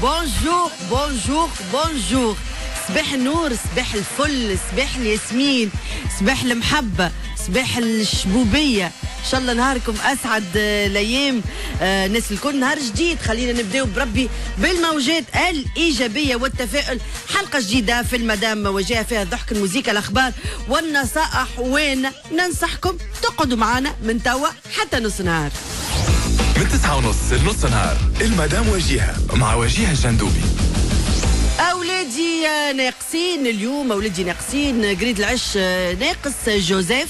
bonjour bonjour bonjour، صباح النور، صباح الفل، صباح الياسمين، صباح المحبة، صباح الشبوبية. ان شاء الله نهاركم اسعد الايام. الناس الكل، نهار جديد، خلينا نبداو بربي بالموجات الايجابية والتفاؤل. حلقة جديدة في المدام وجهه، فيها الضحك، الموسيقى، الاخبار والنصائح، وين ننصحكم تقعدوا معنا من توا حتى نص نهار. من 9:30 لنص نهار، المدام وجيهة مع وجيهة الجندوبي. اولادي ناقصين اليوم، اولادي ناقصين، قريد العش ناقص جوزيف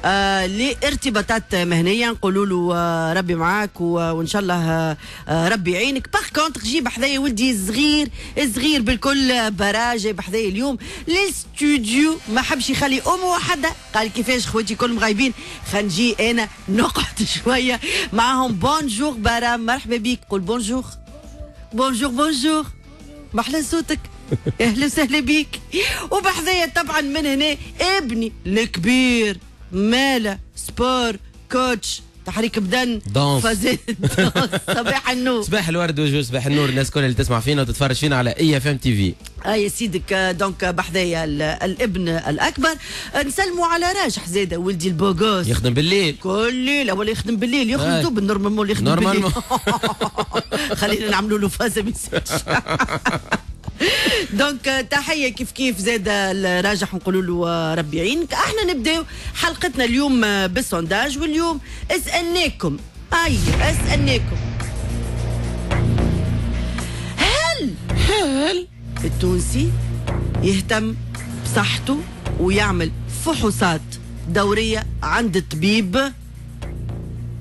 لارتباطات مهنيه، نقولوا له ربي معاك وان شاء الله ربي يعينك. par contre جيب حذايا ولدي صغير صغير بالكل، برا جايب حذايا اليوم للاستوديو، ما حبش يخلي امه وحده، قال كيفاش خواتي كلهم غايبين، خلينا نجي انا نقعد شوية معاهم. bonjour برا، مرحبا بيك، قول bonjour bonjour bonjour، محلى صوتك، اهلا وسهلا بيك. وبحذايا طبعا من هنا ابني الكبير، مالا sport coach، تحريك بدن، danse. فازات. صباح النور. صباح الورد وجو، صباح النور الناس كل اللي تسمع فينا وتتفرج فينا على IFM TV. اي سيدك، donc بحذايا الابن الاكبر. نسلموا على راجح زاده، ولدي ال beau gosse. يخدم بالليل. كل ليلة ولا يخدم بالليل، يخدم دوب normalement اللي يخدم بالليل. normalement. خلينا نعملوا له فازة message. donc تحية كيف كيف زاد الراجح، نقولوا له ربي يعينك. احنا نبداو حلقتنا اليوم بال sondage، واليوم اسالناكم، اي اسالناكم، هل هل التونسي يهتم بصحته ويعمل فحوصات دورية عند الطبيب،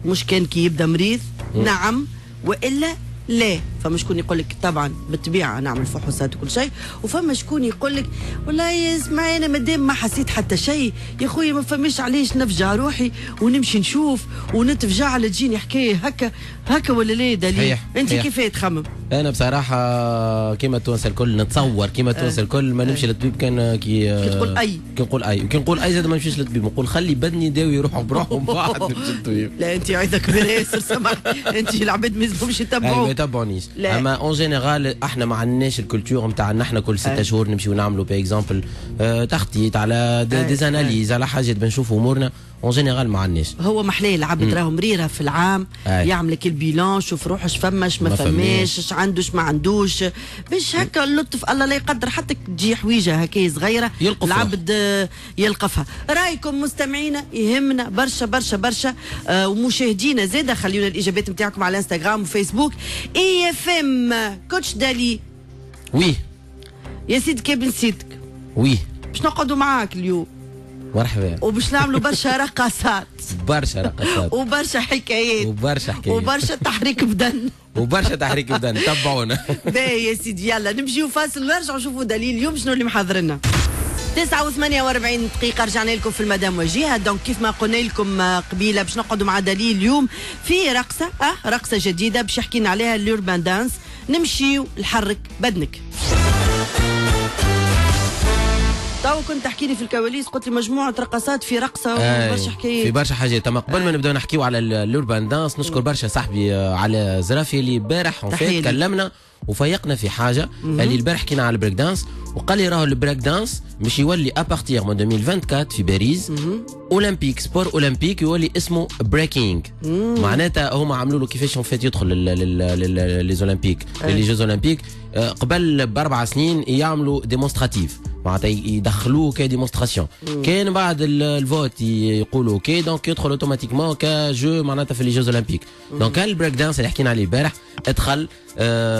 مش كان كي يبدا مريض؟ نعم والا لا؟ فما شكون يقول لك طبعا بالطبيعة نعمل فحوصات وكل شيء، وفما شكون يقول لك والله اسمع، انا مادام ما حسيت حتى شيء يا خويا، ما فماش علاش نفجع روحي ونمشي نشوف ونتفجع على تجيني حكاية هكا هكا، ولا لا دليل؟ انت كيف تخمم؟ انا بصراحة كيما التوانسة الكل، نتصور كيما التوانسة الكل، ما نمشي للطبيب كان كي كي تقول أي. كي نقول اي، وكي نقول اي زاد ما نمشيش للطبيب، نقول خلي بدني يداوي روحه بروحه ومن بعد نمشي للطبيب. لا، انت عايزه كبير ياسر، سامحني، انت العباد ما يلزمهمش اي ما يتبعوك. يتبعونيش. لا. اما en général احنا ما عندناش ال culture نتاع ان احنا كل 6 شهور نمشيو نعملوا par exemple تخطيط على des analyses، على حاجات بنشوفوا امورنا. en général ما عندناش. هو محلاه العبد راهو مريرة في العام يعمل لك ال bilan، شوف روحه اش فماش ما ما فماش، فماش. اش عندوش ما عندوش، باش هكا اللطف الله لا يقدر حتى تجي حويجه هكا صغيرة يلقفها. العبد يلقفها. رايكم مستمعينا يهمنا برشا برشا برشا، ومشاهدينا زاده، خليونا الاجابات نتاعكم على انستغرام وفيسبوك IFM. coach دالي. oui. يا سيدك يا بن سيدك. oui. باش نقعدوا معاك اليوم. مرحبا. وباش نعملوا برشا رقصات. برشا رقصات. وبرشا حكايات. وبرشا حكايات. وبرشا تحريك بدن. وبرشا تحريك بدن، تبعونا. باهي يا سيدي، يلا نمشيو فاصل ونرجعوا نشوفوا دليل اليوم شنو اللي محضر لنا. 9:48، رجعنا لكم في المدام وجيهة. donc كيف ما قلنا لكم قبيلة، باش نقعدوا مع دليل اليوم في رقصة رقصة جديدة باش يحكي لنا عليها، ال urban dance. نمشيو نحرك بدنك. تو كنت تحكي لي في الكواليس، قلت لي مجموعة رقصات في رقصة وبرشا حكايات. في برشا حاجات. اما قبل ما نبداو نحكيو على ال urban dance، نشكر برشا صاحبي على زرافي اللي البارح تحية ليك. كلمنا وفيقنا في حاجه، اللي البارح حكينا على ال break dance، وقال لي راهو ال break dance مش يولي à partir من 2024 في باريس olympique، sport olympique، يولي اسمه breaking. معناتها هما عملوا له كيفاش en fait يدخل les olympiques، les jeux olympiques، قبل ب4 سنين يعملوا démonstratif، معناتها يدخلوه ك démonstration، كان بعد ال vote يقولوا OK، donc يدخل automatiquement ك jeu معناتها في les jeux olympiques. donc ال break dance اللي حكينا عليه البارح ادخل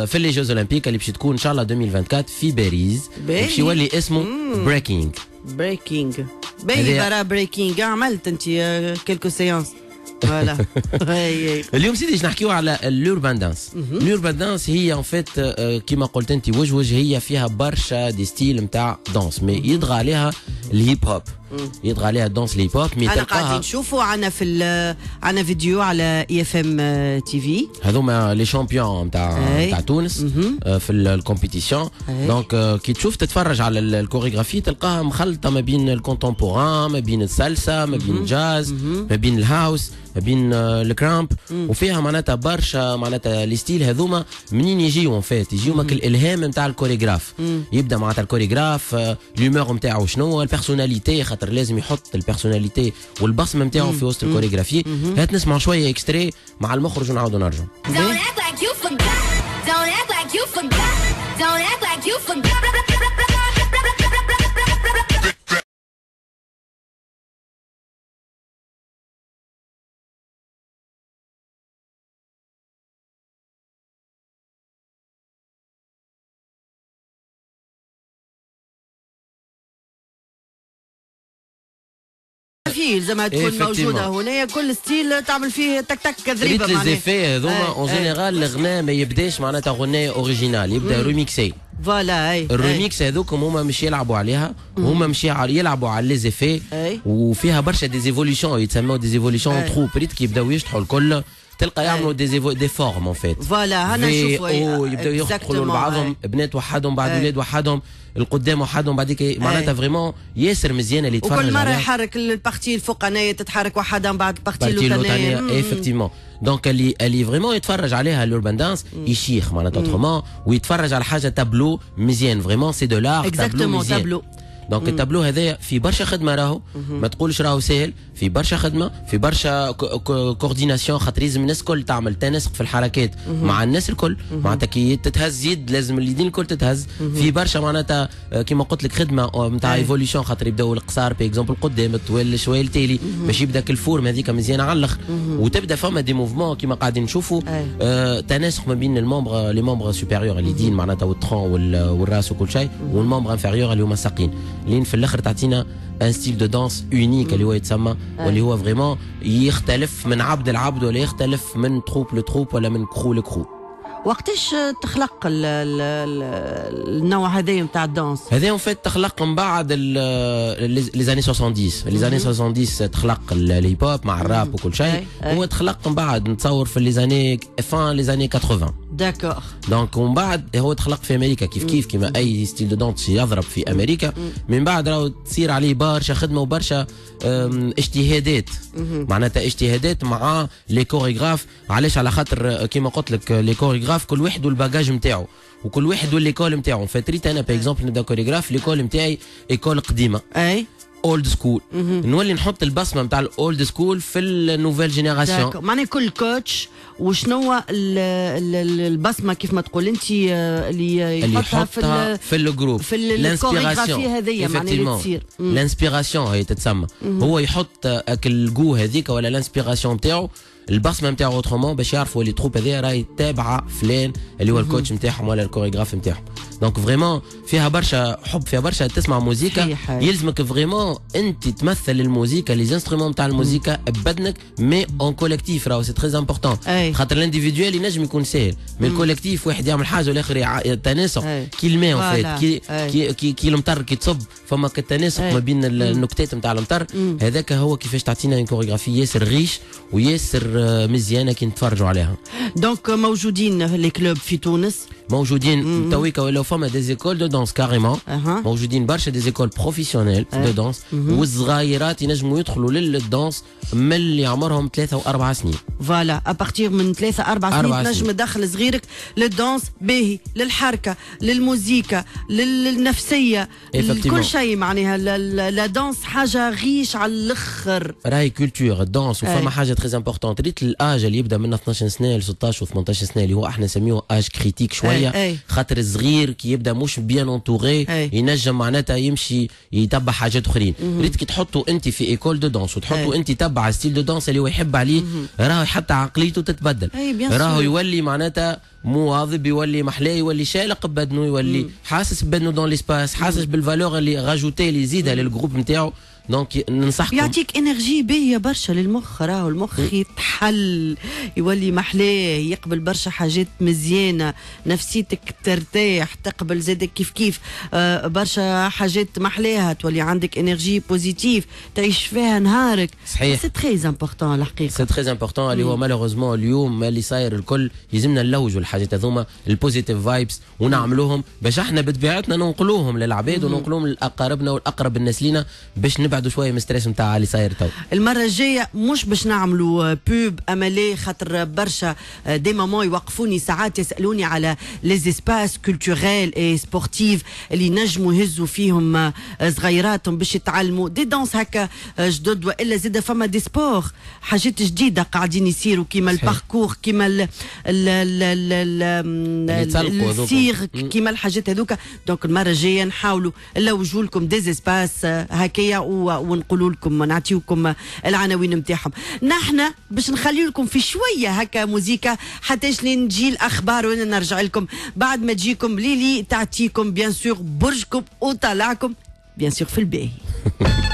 في les jeux olympiques اللي باش تكون ان شاء الله 2024 في باريس. باهي. باش يولي اسمه breaking. breaking، باهي. برا breaking، عملت انت quelques séances، voilà. اليوم سيدي باش نحكيو على ال urban dance. ال urban dance هي en fait كيما قلت انت وجه وجه، هي فيها برشا des styles نتاع danse، mais يطغى عليها ال hip hop. يطغى عليها ال danse ال hip-hop. mais انا قاعدين نشوفوا عندنا في عندنا فيديو على IFM TV، هذوما les champions نتاع تونس في ال compétition. donc كي تشوف تتفرج على الكوريغرافي تلقاها مخلطه ما بين ال contemporain، ما بين السلسه، ما بين الجاز، ما بين ال house، ما بين ال krump، وفيها معناتها برشا معناتها les styles هذوما. منين يجيو؟ en fait يجيو ماك الالهام نتاع الكوريغراف. يبدا معناتها ال chorégraphe l'humeur نتاعو شنو، ال personnalité، خاطر لازم يحط ال personnalité والبصمه نتاعو في وسط الكوريغرافي. هات نسمع شوية extrait مع المخرج ونعاودوا نرجعوا. Don't act like you forgot. Don't act like you forgot. Don't act like you forgot. فيه لازمها تكون موجودة هنا، كل style تعمل فيه تك تك كذريبه. ريت les effets هذوما en général الغناء ما يبداش معناتها غنايه originale، يبدا remixé. voilà اي الريميكس هذوك هما مش يلعبوا عليها، هما مش يلعبوا على les effets، وفيها برشا des évolutions يتسموا des évolutions troupe. ريت كي يبداو يشطحوا الكل تلقى يعملوا des formes en fait. voilà هنا نشوفوا يبداو يدخلوا لبعضهم، بنات وحدهم، بعد ولاد وحدهم، القدام وحدهم، بعديك معناتها vraiment ياسر مزيانه اللي يتفرج. وكل مرة يحرك ال partie الفوقانيه تتحرك وحدها، من بعد ال partie الاولانية. effectivement donc اللي vraiment يتفرج عليها ال urban dance يشيخ معناتها autrement، ويتفرج على حاجة تابلو مزيان، vraiment c'est de l'art tableau مزيان. tableau. donc ال tableau هذايا في برشا خدمة، راهو ما تقولش راهو ساهل، في برشا خدمه، في برشا coordination، خاطر لازم الناس الكل تعمل تناسق في الحركات مع الناس الكل. معناتها كي تتهز يد لازم اليدين الكل تتهز. في برشا معناتها كيما قلت لك خدمة نتاع évolution، خاطر يبداو القصار par exemple قدام، الطويل شوية التالي، باش يبدا ال forme هذيك مزيانه على الاخر، وتبدا فما des mouvements كيما قاعدين نشوفوا تناسق ما بين ال membres، les membres supérieurs اليدين معناتها وال tronc والراس وكل شيء، وال membres inférieurs اللي هما الساقين، لين في الاخر تعطينا un style de danse unique اللي هو يتسمى، واللي هو vraiment يختلف من عبد لعبد، ولا يختلف من troupe ل troupe، ولا من crew ل crew. وقتاش تخلق النوع هذايا نتاع ال danse؟ هذا en fait تخلق من بعد les années 70. les années 70 تخلق ال hip-hop مع الراب وكل شيء. هو تخلق من بعد نتصور في les années fin les années 80. d'accord. donc ومن بعد هو تخلق في امريكا كيف كيف كيما اي style de danse يضرب في امريكا. من بعد راهو تصير عليه برشا خدمة وبرشا اجتهادات، معناتها اجتهادات مع les chorégraphes. علاش؟ على خاطر كيما قلت لك les chorégraphes كل واحد وال bagage نتاعو، وكل واحد وال l'école نتاعو. فتريت انا par exemple نبدا chorégraphe، l'école نتاعي école قديمة، اي old school، نولي نحط البصمة نتاع ال old school في ال nouvelle génération. معناها كل coach وشنو البصمة كيف ما تقول انت اللي يحطها في ال groupe، في الكوريغرافي هذيا، معناها اللي تصير l'inspiration هي تتسمى. هو يحط الجو هذيك ولا l'inspiration نتاعو، البصمة نتاعو autrement، باش يعرفوا اللي troupe هذيا راهي تابعه فلان اللي هو ال coach نتاعهم ولا الكوريغراف نتاعهم. donc vraiment فيها برشا حب، فيها برشا تسمع موزيكا يلزمك vraiment انت تمثل الموزيكا، les instruments نتاع الموزيكا ببدنك، mais en collectif راهو c'est très important. خاطر ال individuel ينجم يكون ساهل، mais ال collectif واحد يعمل حاجة والاخر تناسق كي الماء en fait، كي كي كي المطر كي تصب فما التناسق ما بين النكتات نتاع المطر. هذاك هو كيفاش تعطينا une chorégraphie ياسر riche وياسر مزيانه كي نتفرجوا عليها. donc موجودين les clubs في تونس؟ موجودين تويكا، ولاو فما des écoles de danse carrément، موجودين برشا des écoles professionnelles de danse، والصغيرات ينجموا يدخلوا لل danse من اللي عمرهم 3 و4 سنين. voilà، à partir من 3 4 سنين تنجم تدخل صغيرك لل danse، باهي للحركه، للموزيكا، للنفسيه، كل شيء. معناها la danse حاجة riche على الاخر. راهي culture ال danse. وفما حاجة très importante، ريت l'âge اللي يبدا من 12 سنة ل 16 و 18 سنة، اللي هو احنا نسميه âge critique شويه، خاطر الصغير كي يبدا مش bien entouré ينجم معناتها يمشي يتبع حاجات اخرين. ريت كي تحطوا انت في école de danse وتحطوا انت تبع style de danse اللي هو يحب عليه، راهو حتى عقليته تتبدل، راهو يولي معناتها مواظب، يولي محلاه، يولي شالق ببدنه، يولي حاسس ببدنه dans l'espace، حاسس بال valeur اللي rajoutée اللي يزيدها لل groupe نتاعو. donc ننصحكم. يعطيك énergie باهيه برشا للمخ، راهو المخ يتحل، يولي محلاه، يقبل برشا حاجات مزيانه، نفسيتك ترتاح، تقبل زادك كيف كيف برشا حاجات محلاها، تولي عندك énergie positive تعيش فيها نهارك. صحيح. c'est très important الحقيقه. c'est très important اللي هو malheureusement اليوم اللي صاير الكل يلزمنا نلوجوا الحاجات هذوما ال positive vibes ونعملوهم باش احنا بطبيعتنا ننقلوهم للعباد وننقلوهم لاقاربنا والاقرب الناس لينا باش نبعدوا شوية من stress نتاع اللي صاير تو. المرة الجاية مش باش نعملوا pub اما ليه، خاطر برشا des mamans يوقفوني ساعات يسالوني على les espaces culturels et sportifs اللي نجموا يهزوا فيهم صغيراتهم باش يتعلموا des danses هكا جدد، والا زاد فما des sports حاجات جديدة قاعدين يصيروا كيما الباركور، كيما ال ال السيرك، كيما الحاجات هذوك. donc المرة الجاية نحاولوا نلوجوا لكم des espaces هكايا ونقولوا لكم نعطيوكم العناوين نتاعهم. نحن باش نخلي لكم في شوية هكا موزيكا حتى لين تجي الاخبار وانا نرجع لكم بعد ما تجيكم ليلي تعطيكم bien sûr برجكم وطلعكم bien sûr في الباهي.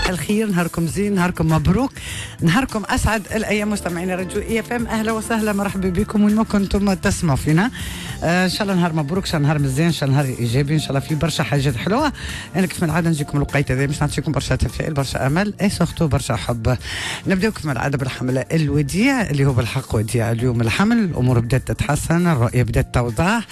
الخير، نهاركم زين، نهاركم مبروك، نهاركم اسعد الايام. مستمعين راديو IFM، اهلا وسهلا، مرحبا بكم وين ما كنتم تسمعوا فينا. ان شاء الله نهار مبروك، ان شاء الله نهار مزيان، ان شاء الله نهار ايجابي، ان شاء الله فيه برشا حاجات حلوة. انا كيف العادة نجيكم الوقيته هذا باش نعطيكم برشا تفاؤل، برشا امل et surtout برشا حب. نبداو كيف العادة بالحمل الوديع اللي هو بالحق وديع اليوم. الحمل الامور بدات تتحسن، الرؤية بدات توضح،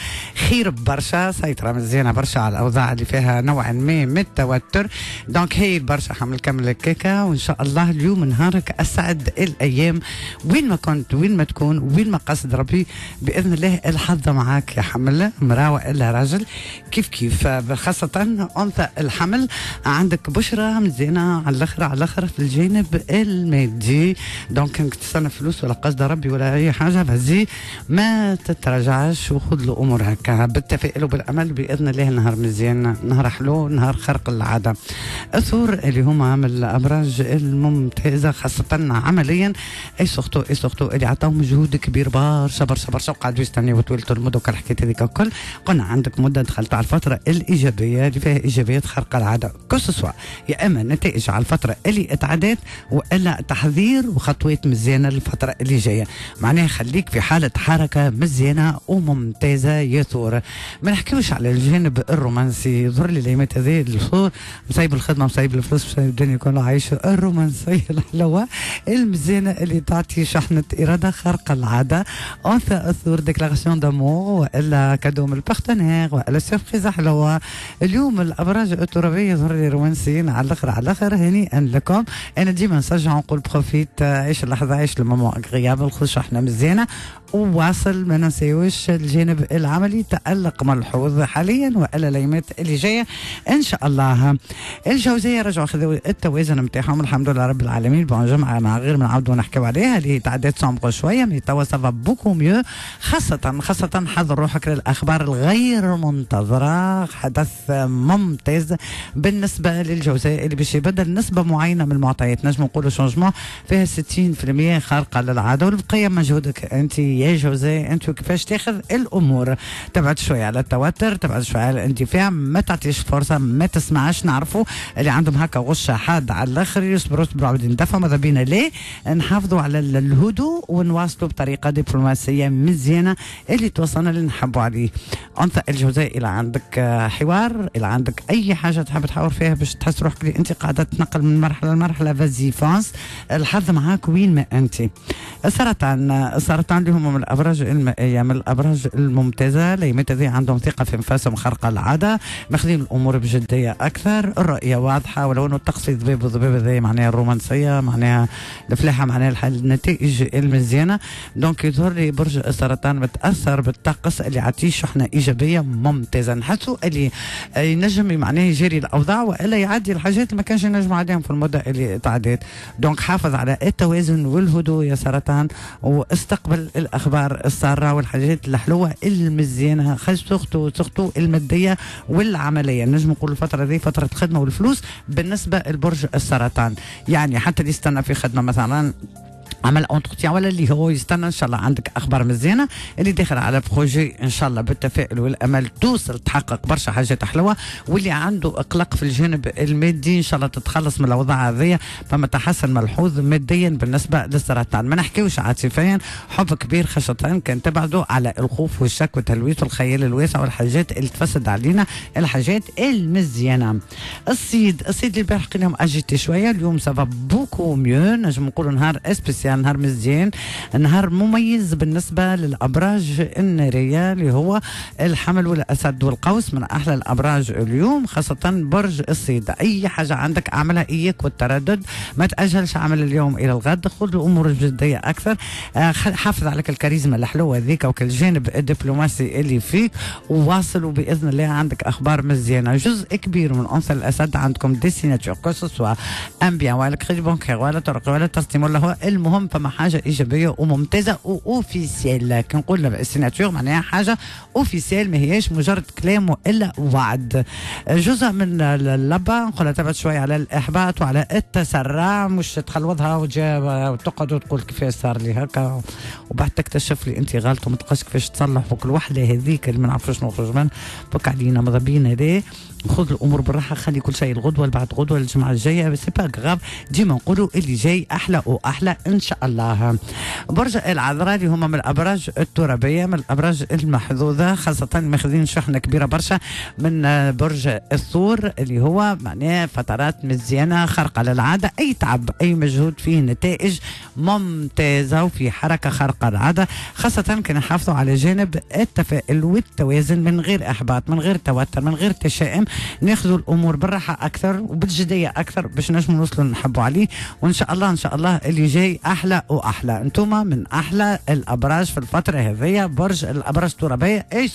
خير برشا، سيطرة مزيانه برشا على الاوضاع اللي فيها نوعا ما من التوتر. donc هايل برشا حمل كمل الكيكه، وان شاء الله اليوم نهارك اسعد الايام وين ما كنت، وين ما تكون، وين ما قصد ربي باذن الله الحظ معاك يا حمل، امراة والا راجل كيف كيف. خاصة انثى الحمل عندك بشرى مزيانه على الاخر على الاخر في الجانب المادي. donc كنت تستنى فلوس ولا قصد ربي ولا اي حاجة vas-y ما تتراجعش وخذ الامور هكا بالتفاؤل وبالامل باذن الله. نهار مزيان، نهار حلو، نهار خرق العادة. الثور اللي هما من الابراج الممتازة خاصة عمليا et surtout et surtout اللي عطاو مجهود كبير برشا برشا برشا وقعدوا يستناو طويلة المدة وكل الحكاية هذيك الكل. قلنا عندك مده دخلت على الفترة الايجابية اللي فيها ايجابيات خارقة العادة، que ce soit يا اما نتائج على الفترة اللي اتعدت والا تحضير وخطوات مزيانه للفترة اللي جاية. معناها خليك في حاله حركة مزيانه وممتازة يا ثور. ما نحكيوش على الجانب الرومانسي، يظهر لي الايامات هذه الثور مسيب الخدمة، مسيب الفلوس، مسيب الدنيا كلها، عايش الرومانسية الحلوة المزيانه اللي تعطي شحنه اراده خارقة العادة. انثى الثور déclaration d'amour والا cadeau من ال partenaire والا surprise حلوة. اليوم الابراج الترابيه يظهر لي رومانسيين على الاخر على الاخر، هنيئا لكم. انا ديما نشجع ونقول profite، عيش اللحظة، عيش le moment agréable، خذ شحنه مزيانه وواصل. ما ننساوش الجانب العملي تألق ملحوظ حاليا والا الايامات اللي جاية ان شاء الله. الجوزية رجعوا خذوا التوازن نتاعهم الحمد لله رب العالمين. bon جمعه مع غير ما نعاودوا نحكيو عليها اللي تعدات sombre شوية، mais توا ça va beaucoup mieux. خاصة حضر روحك للاخبار الغير منتظره، حدث ممتاز بالنسبة للجوزاء اللي باش يبدل نسبه معينة من المعطيات، نجم نقولوا changement فيها 60% خارقة للعادة، والبقية مجهودك انت يا جوزاء، انت كيفاش تاخذ الامور. تبعد شوية على التوتر، تبعد شوية على الاندفاع، ما تعطيش فرصة، ما تسمعش. نعرفوا اللي عندهم هكا غشه حاد على الاخر يصبروا يصبروا عاود ندفعوا، ماذا بينا ليه نحافظوا على الهدوء ونواصلوا بطريقة دبلوماسية مزيانه اللي توصلنا اللي نحبوا عليه. انثى الجوزاء الى عندك حوار، الى عندك اي حاجة تحب تحاور فيها باش تحس روحك اللي انت قاعدة تتنقل من مرحلة لمرحلة، vas-y fonce، الحظ معاك وين ما انت. السرطان اللي هم من الابراج المائية، من الابراج الممتازة، الايامات هذه عندهم ثقة في انفاسهم خارقة العادة، ماخذين الامور بجدية اكثر، الرؤية واضحة ولو انه الطقس ضباب وضباب هذا معناها الرومانسية، معناها الفلاحة، معناها النتائج المزيانه. donc يظهر لي برج السرطان متاثر بالطقس اللي يعطيه شحنه ايجابية ممتازة، نحسوا اللي ينجم معناها يجري الاوضاع والا يعدي الحاجات اللي ما كانش ينجم عليهم في المدة اللي تعديت. donc حافظ على التوازن والهدوء يا سرطان، واستقبل الاخبار الساره والحاجات الحلوة المزيانه، surtout المادية والعملية. نجم نقول الفترة دي فترة الخدمة والفلوس بالنسبة لبرج السرطان، يعني حتى اللي يستنى في خدمة مثلا عمل entretien ولا اللي هو يستنى، ان شاء الله عندك اخبار مزيانه. اللي داخل على projet ان شاء الله بالتفاؤل والامل توصل تحقق برشا حاجات حلوه. واللي عنده اقلاق في الجانب المادي ان شاء الله تتخلص من الاوضاع هذيا، فما تحسن ملحوظ ماديا بالنسبة للسرطان. ما نحكيوش عاطفيا، حب كبير خاصة كان تبعدوا على الخوف والشك والتلويث والخيال الواسع والحاجات اللي تفسد علينا الحاجات المزيانه. الصيد، الصيد اللي البارح لهم agité شويه، اليوم ça va beaucoup mieux. نجم نقولوا نهار spécial، نهار مزيان، نهار مميز بالنسبة للأبراج النارية اللي هو الحمل والأسد والقوس، من أحلى الأبراج اليوم، خاصة برج الصيد. أي حاجة عندك أعملها، إياك والتردد، ما تأجلش عمل اليوم إلى الغد، خذ الأمور الجدية أكثر. حافظ عليك الكاريزما الحلوة ذيك وكالجانب الدبلوماسي اللي فيك، وواصل وبإذن الله عندك أخبار مزيانة. جزء كبير من أنثى الأسد عندكم des signatures، que ce soit un bien ولا crédit bancaire ولا طرق ولا ترسيم ولا هو المهم فما حاجة ايجابية وممتازة و officielle. كي نقول ال signature معناها حاجة officielle، ما هياش مجرد كلام والا وعد. جزء من اللبه نقول تبعد شوية على الاحباط وعلى التسرع، مش تخلوضها وتقعد وتقول كيفاش صار لي هكا، وبعد تكتشف لي انت غلط وما تلقاش كيفاش تصلح، وكل وحده هذيك اللي ما نعرفوش نخرج منها. فك علينا، ماذا بينا هذا، خذ الامور بالراحه، خلي كل شيء الغدوه، بعد غدوه، الجمعة الجايه، c'est pas grave. ديما نقولوا اللي جاي احلى واحلى ان شاء الله. برج العذراء اللي هما من الابراج الترابيه، من الابراج المحظوظه، خاصة ماخذين شحنه كبيرة برشا من برج الثور اللي هو معناه فترات مزيانه خارقة للعاده، اي تعب اي مجهود فيه نتائج ممتازة وفي حركة خارقة للعاده، خاصة كان نحافظوا على جانب التفاؤل والتوازن من غير احباط، من غير توتر، من غير تشاؤم، ناخذوا الامور بالراحة اكثر وبالجديه اكثر باش نجموا نوصلوا نحبوا عليه. وان شاء الله ان شاء الله اللي جاي احلى واحلى. انتم من احلى الابراج في الفترة هذيا، برج الابراج الترابيه et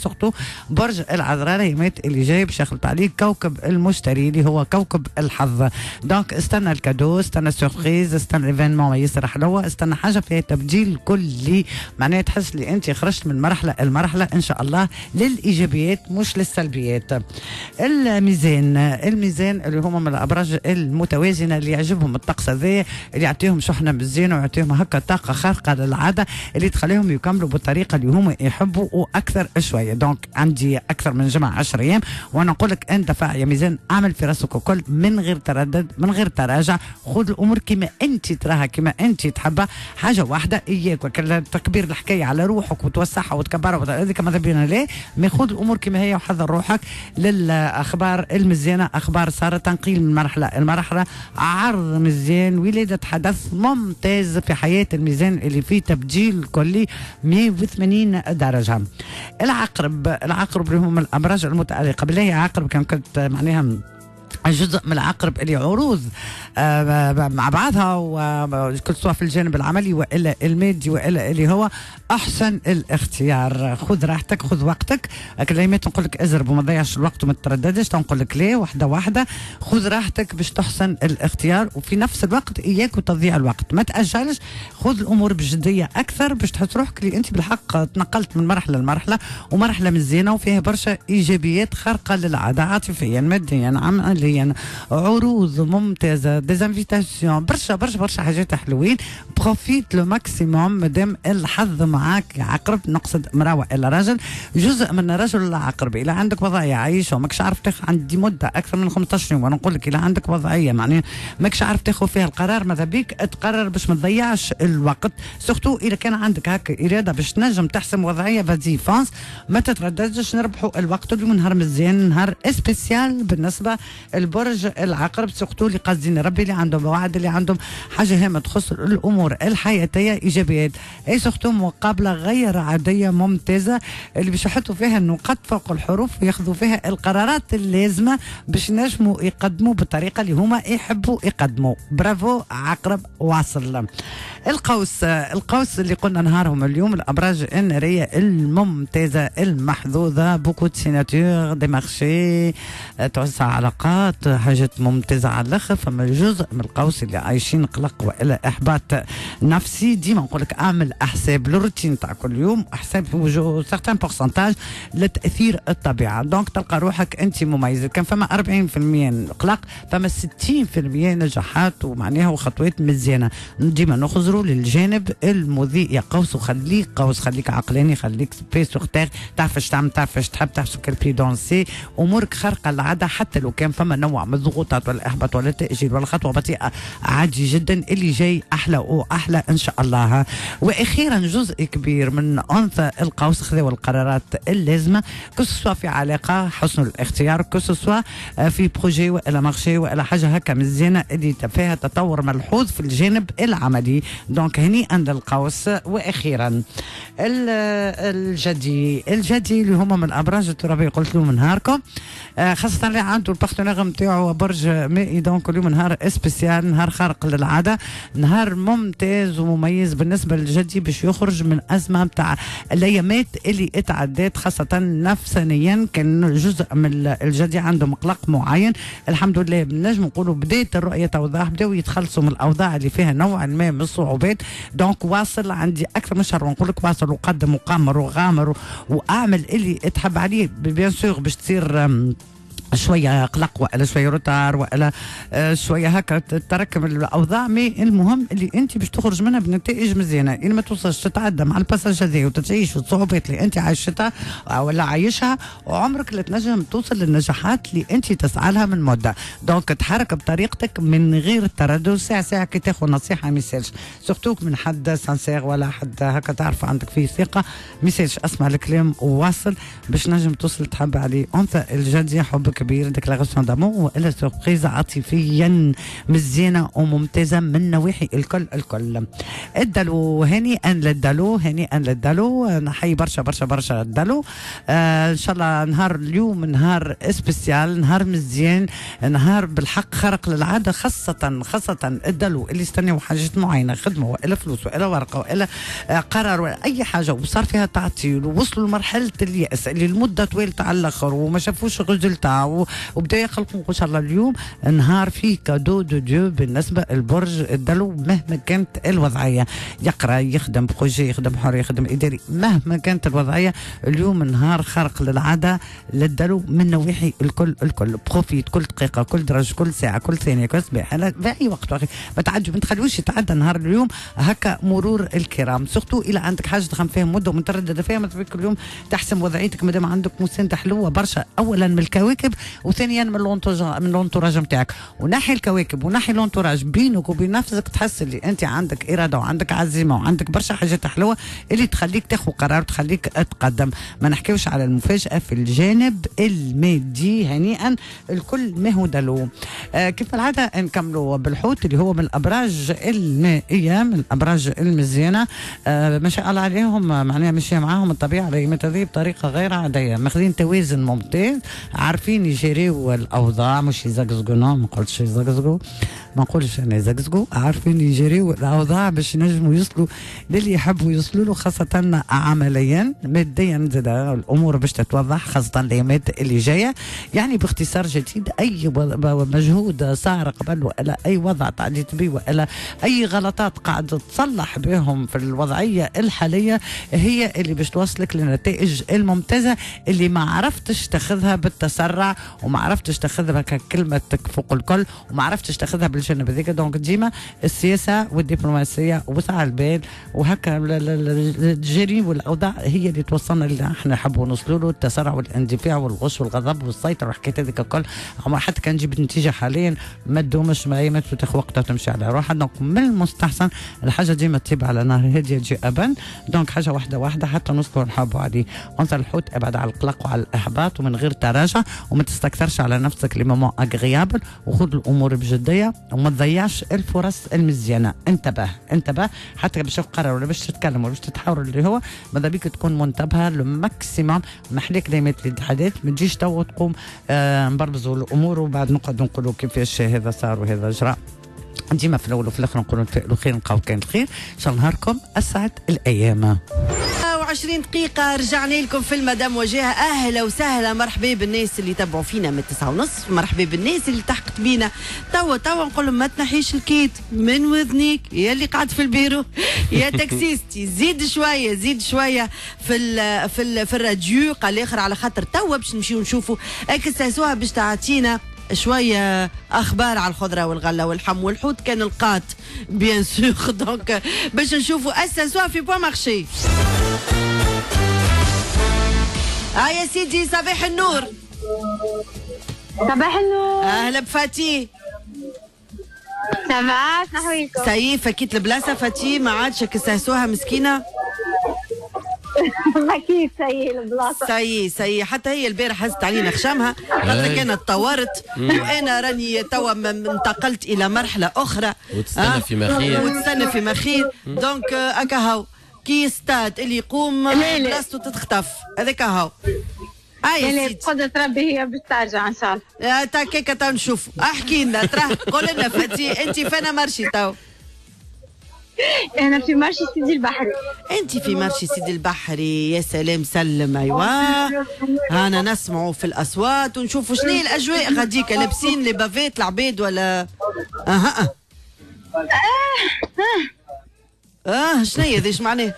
surtout برج العذراء اليومات اللي جاي باش يخلط عليه كوكب المشتري اللي هو كوكب الحظ. donc استنى ال cadeau، استنى surprise، استنى événement ياسر حلوه، استنى حاجة فيها تبديل كلي، معناها تحس اللي انت خرجت من مرحلة المرحلة ان شاء الله للايجابيات مش للسلبيات. الميزان، الميزان اللي هما من الابراج المتوازنه اللي يعجبهم الطقس هذا، اللي يعطيهم شحنه مزيانه ويعطيهم هكا طاقة خارقة للعادة اللي تخليهم يكملوا بالطريقة اللي هما يحبوا واكثر شوية. donc عندي اكثر من جمعه 10 ايام وانا نقول لك اندفع يا ميزان، اعمل في راسك الكل من غير تردد من غير تراجع، خذ الامور كما انت تراها كما انت تحبها. حاجة واحدة اياك تكبير الحكاية على روحك وتوسعها وتكبرها، هذيك ماذا بينا ليه، mais خذ الامور كما هي وحضر روحك للاخبار المزيانه، اخبار صارت تنقيل من مرحلة المرحلة، عرض مزيان، ولاده حدث ممتاز في حياة الميزان اللي فيه تبديل كلي 180 درجه. العقرب، العقرب اللي هم الابراج المتالقه، بالله عقرب كان كنت معناها جزء من العقرب اللي عروض مع بعضها، وكل سواء في الجانب العملي والا المادي والا اللي هو احسن الاختيار. خذ راحتك، خذ وقتك، كلمات نقول لك ازرب وما تضيعش الوقت وما ترددش، نقول لك ليه واحدة واحدة، خذ راحتك باش تحسن الاختيار، وفي نفس الوقت اياك وتضيع الوقت، ما تاجلش، خذ الامور بجدية اكثر باش تحس روحك اللي انت بالحق تنقلت من مرحلة لمرحلة، ومرحلة مزيانه وفيها برشا ايجابيات خارقة للعادة، عاطفيا ماديا عمليا، عروض ممتازة، des invitations، برشا برشا برشا حاجات حلوين. profite le maximum مادام الحظ معاك يا عقرب، نقصد امراة والا رجل، جزء من الرجل العقرب اذا عندك وضعية عايشه وماكش عارف تاخذ، عندي مده اكثر من 15 يوم وانا نقول لك اذا عندك وضعية معناها ماكش عارف تاخذ فيها القرار، ماذا بيك تقرر باش ما تضيعش الوقت، surtout اذا كان عندك هكا اراده باش تنجم تحسم وضعية، vas-y fonce، ما تترددش، نربحوا الوقت. اليوم نهار مزيان، نهار spécial بالنسبة البرج العقرب، surtout اللي قاصدين ربي، اللي عندهم وعد، اللي عندهم حاجة هامة تخص الامور الحياتية، ايجابيات et surtout مقابله غير عادية ممتازة اللي باش يحطوا فيها النقاط فوق الحروف وياخذوا فيها القرارات اللازمة باش ينجموا يقدموا بالطريقة اللي هما يحبوا يقدموا. برافو عقرب، واصل. القوس، القوس اللي قلنا نهارهم اليوم، الابراج النارية الممتازة المحظوظه، beaucoup de signatures، des marchés، توسع علاقات، حاجات ممتازة على الاخر. فما جزء من القوس اللي عايشين قلق والا احباط نفسي، ديما نقول لك اعمل احساب لل retour. الروتين تاع كل يوم، حساب certain pourcentage لتاثير الطبيعة. donc تلقى روحك انت مميز. كان فما 40% قلق، فما 60% نجاحات ومعناها وخطوات مزيانه. ديما نخزروا للجانب المضيء يا قوس، وخليك قوس، خليك عقلاني، خليك pieds sur terre، تعرف اش تعمل، تعرف اش تحب، تعرف quel pied danser. امورك خارقة العادة، حتى لو كان فما نوع من الضغوطات ولا الاحباط ولا التاجيل ولا خطوة بطيئه، عادي جدا، اللي جاي احلى واحلى ان شاء الله. واخيرا جزء كبير من انثى القوس خذوا القرارات اللازمة، que ce soit في علاقة، حسن الاختيار، que ce soit في projet والا marché والا حاجة هكا مزيانه اللي فيها تطور ملحوظ في الجانب العملي. donc هنيئا للقوس. واخيرا الجدي، الجدي اللي هما من الابراج الترابيه، قلت لهم نهاركم خاصة اللي عنده ال partenaire نتاعو برج مائي. donc اليوم نهار spécial، نهار خارق للعاده، نهار ممتاز ومميز بالنسبة للجدي باش يخرج من ازمة نتاع الايامات اللي اتعدات، خاصة نفسانيا كان جزء من الجدي عندهم قلق معين. الحمد لله نجم نقولوا بدات الرؤية توضح، بداوا يتخلصوا من الاوضاع اللي فيها نوعا ما من الصعوبات. donc واصل، عندي اكثر من شهر ونقول لك واصل وقدم وقامر وغامر واعمل اللي تحب عليه. bien sûr باش تصير شوية قلق والا شوية retard والا شوية هكا تتراكم الاوضاع، mais المهم اللي انت باش تخرج منها بنتائج مزيانه. ان ما توصلش تتعدى مع ال passage هذا وتعيش الصعوبات اللي انت عايشتها ولا عايشها، وعمرك لا تنجم توصل للنجاحات اللي انت تسعى لها من مده. donc تحرك بطريقتك من غير تردد، ساعة ساعة كي تاخذ نصيحة ما يسالش، surtout من حد sincère ولا حد هكا تعرف عندك فيه ثقة، ما يسالش، اسمع الكلام وواصل باش نجم توصل تحب عليه. انثى الجدي حب كبير، déclaration d'amour والا surprise عاطفيا مزيانه وممتازة من نواحي الكل الكل. الدلو، هنيئا للدلو، هنيئا للدلو، نحيي برشا برشا برشا الدلو. ان شاء الله نهار اليوم نهار spécial، نهار مزيان، نهار بالحق خارق للعاده، خاصة الدلو اللي استناو حاجات معينه، خدمة والا فلوس والا ورقة والا قرار ولا اي حاجة وصار فيها تعطيل ووصلوا لمرحلة الياس اللي المدة طويلة على الاخر وما شافوش résultat وبدا يخلقوا. ان شاء الله اليوم نهار فيه cadeau de Dieu بالنسبة للبرج الدلو، مهما كانت الوضعية، يقرا، يخدم projet، يخدم حر، يخدم اداري، مهما كانت الوضعية اليوم نهار خارق للعادة للدلو من نواحي الكل الكل. profite كل دقيقه، كل درجه، كل ساعه، كل ثانيه، كل صباح، في اي وقت، ما تعدي، ما تخلوش يتعدى نهار اليوم هكا مرور الكرام، surtout الى عندك حاجة تخمم فيها مده ومتردده فيها، ما كل يوم تحسم وضعيتك مادام عندك مساندة حلوة برشا، اولا من الكواكب وثانيا من l'entourage نتاعك. ونحي الكواكب ونحي l'entourage، بينك وبين نفسك تحس اللي انت عندك اراده وعندك عزيمة وعندك برشا حاجات حلوة اللي تخليك تاخذ قرار وتخليك تقدم. ما نحكيوش على المفاجاة في الجانب المادي، هنيئا الكل ما هو دلو. كيف العادة نكملوا بالحوت اللي هو من الابراج المائيه، من الابراج المزيانه، ما شاء الله عليهم، معناها ماشية معاهم الطبيعة الايامات هذه بطريقة غير عاديه، ماخذين توازن ممتاز، عارفين يجريو الاوضاع، مش يزقزقوا، ما نقولش يزقزقوا، ما نقولش انا يزقزقوا، عارفين يجريو الاوضاع باش ينجموا يوصلوا للي يحبوا يوصلوا له، خاصة عمليا ماديا زاد الامور باش تتوضح خاصة الايامات اللي جاية. يعني باختصار شديد اي مجهود صار قبل والا اي وضع تعديت به والا اي غلطات قاعد تصلح بهم في الوضعية الحالية هي اللي باش توصلك للنتائج الممتازة اللي ما عرفتش تاخذها بالتسرع وما عرفتش تاخذها ككلمة فوق الكل وما عرفتش تاخذها بالجانب هذاك. donc ديما السياسة والدبلوماسية وسع البال وهكا الجري والاوضاع هي اللي توصلنا اللي احنا نحبوا نوصلوا له. التسرع والاندفاع والغش والغضب والسيطرة والحكاية هذيك الكل حتى كان نجيب نتيجة حاليا ما تدومش، ما تاخذ وقتها وتمشي على روحها. donc من المستحسن الحاجة ديما تطيب على نار هادية تجي ابن، donc حاجة واحدة واحدة حتى نوصلوا نحبوا عليه. انثى الحوت ابعد على القلق وعلى الاحباط ومن غير تراجع وما تستكثرش على نفسك les moments agréables، وخذ الامور بجدية وما تضيعش الفرص المزيانه. انتبه انتبه حتى باش تقرر ولا باش تتكلم ولا باش تتحاور اللي هو ماذا بيك تكون منتبهه le maximum. محليك دايما الاتحادات ما تجيش تو تقوم نبربزوا الامور وبعد نقعد نقولوا كيفاش هذا صار وهذا جرى. ديما في الاول وفي الاخر نقولوا نتفائلوا خير نلقاو كان الخير. ان شاء الله نهاركم اسعد الايام. و20 دقيقة، رجعنا لكم في المدام وجهة. أهلا وسهلا، مرحبا بالناس اللي تبعوا فينا من 9:30، مرحبا بالناس اللي التحقت بينا توا نقول لهم ما تنحيش ال kit من وذنيك يا اللي قاعد في البيرو يا taxiste، زيد شوية زيد شوية في ال في ال في الراديو قال الاخر، على خاطر توا باش نمشيو نشوفوا اكساسوها باش تعطينا شوية اخبار على الخضرة والغلة والحم والحوت كان القات bien sûr. donc باش نشوفوا اساسوها في Point Marché. يا سيدي صباح النور. صباح النور. اهلا بفاتي. ça va شنو حوالكم؟ ça y est فكيت البلاصة فاتي، ما عادش كساسوها مسكينه. اكيد ça y est البلاصة ça y est ça y est، حتى هي البارح هزت علينا خشمها خاطر كانت تطورت، وانا راني توا انتقلت الى مرحلة اخرى وتستنى في مخير وتستنى في مخير. donc هكا هاو كي ستاد اللي يقوم بلاصتو تتخطف، هذاك هاو. هاي بقدرة ربي هي باش ترجع ان شاء الله. تا كيكا تو نشوف، احكي لنا تراه قول لنا فاتي انت فانا marché تو؟ أنا في marché سيدي البحري. أنت في marché سيدي البحري، يا سلام سلم. أيوا أنا نسمعوا في الأصوات ونشوفوا شنو هي الأجواء غاديك، لابسين les bavettes العباد ولا أها شنو هي هذا معناه؟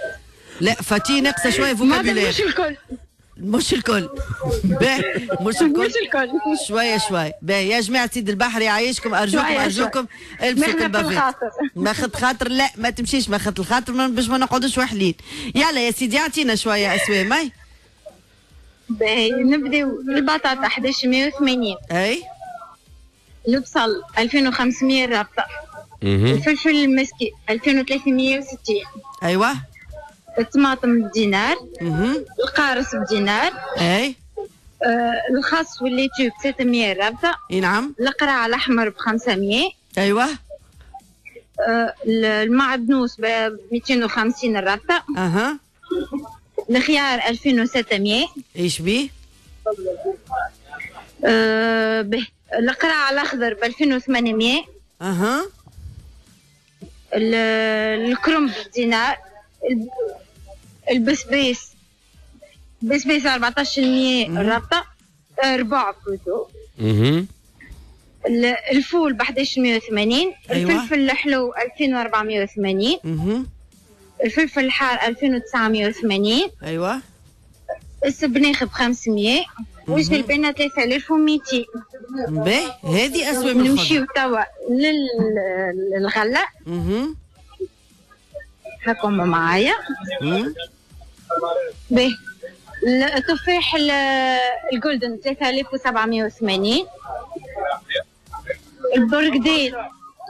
لا فاتي ناقصة شوية vocabulaire. مش الكل مش الكل باهي، مش الكل مش الكل، شوية شوية. باهي يا جماعة سيد البحر يعيشكم، ارجوكم ارجوكم البسوا ال bavettes. ماخذ خاطر، لا ما تمشيش ماخذ الخاطر باش ما نقعدوش وحلين. يلا يا سيدي اعطينا شوية اسوام. اي باهي نبداو البطاطا 1180. اي البصل 2500 الرابطة. الفلفل المسكي 2360. ايوه الطماطم بدينار. القارص بدينار. اي الخس وال laitue ب 600 رابطه. اي نعم. القرع الاحمر ب 500. ايوه. المعدنوس ب 250 الرابطة. اها. الخيار 2600. ايش بيه؟ به القرع الاخضر ب 2800. اها. الكرنب بدينار. البسبيس بسبيس 14% الرابطة، ربع plutôt. الفول ب 1180. أيوة. الفلفل الحلو 2480. الفلفل الحار 2980. ايوه. السبناخ ب 500. والجلبانه 3200. باهي هذه اسوام. نمشيو توا للغله. هاكم معايا. باهي التفاح ال Golden 3780. البرقدين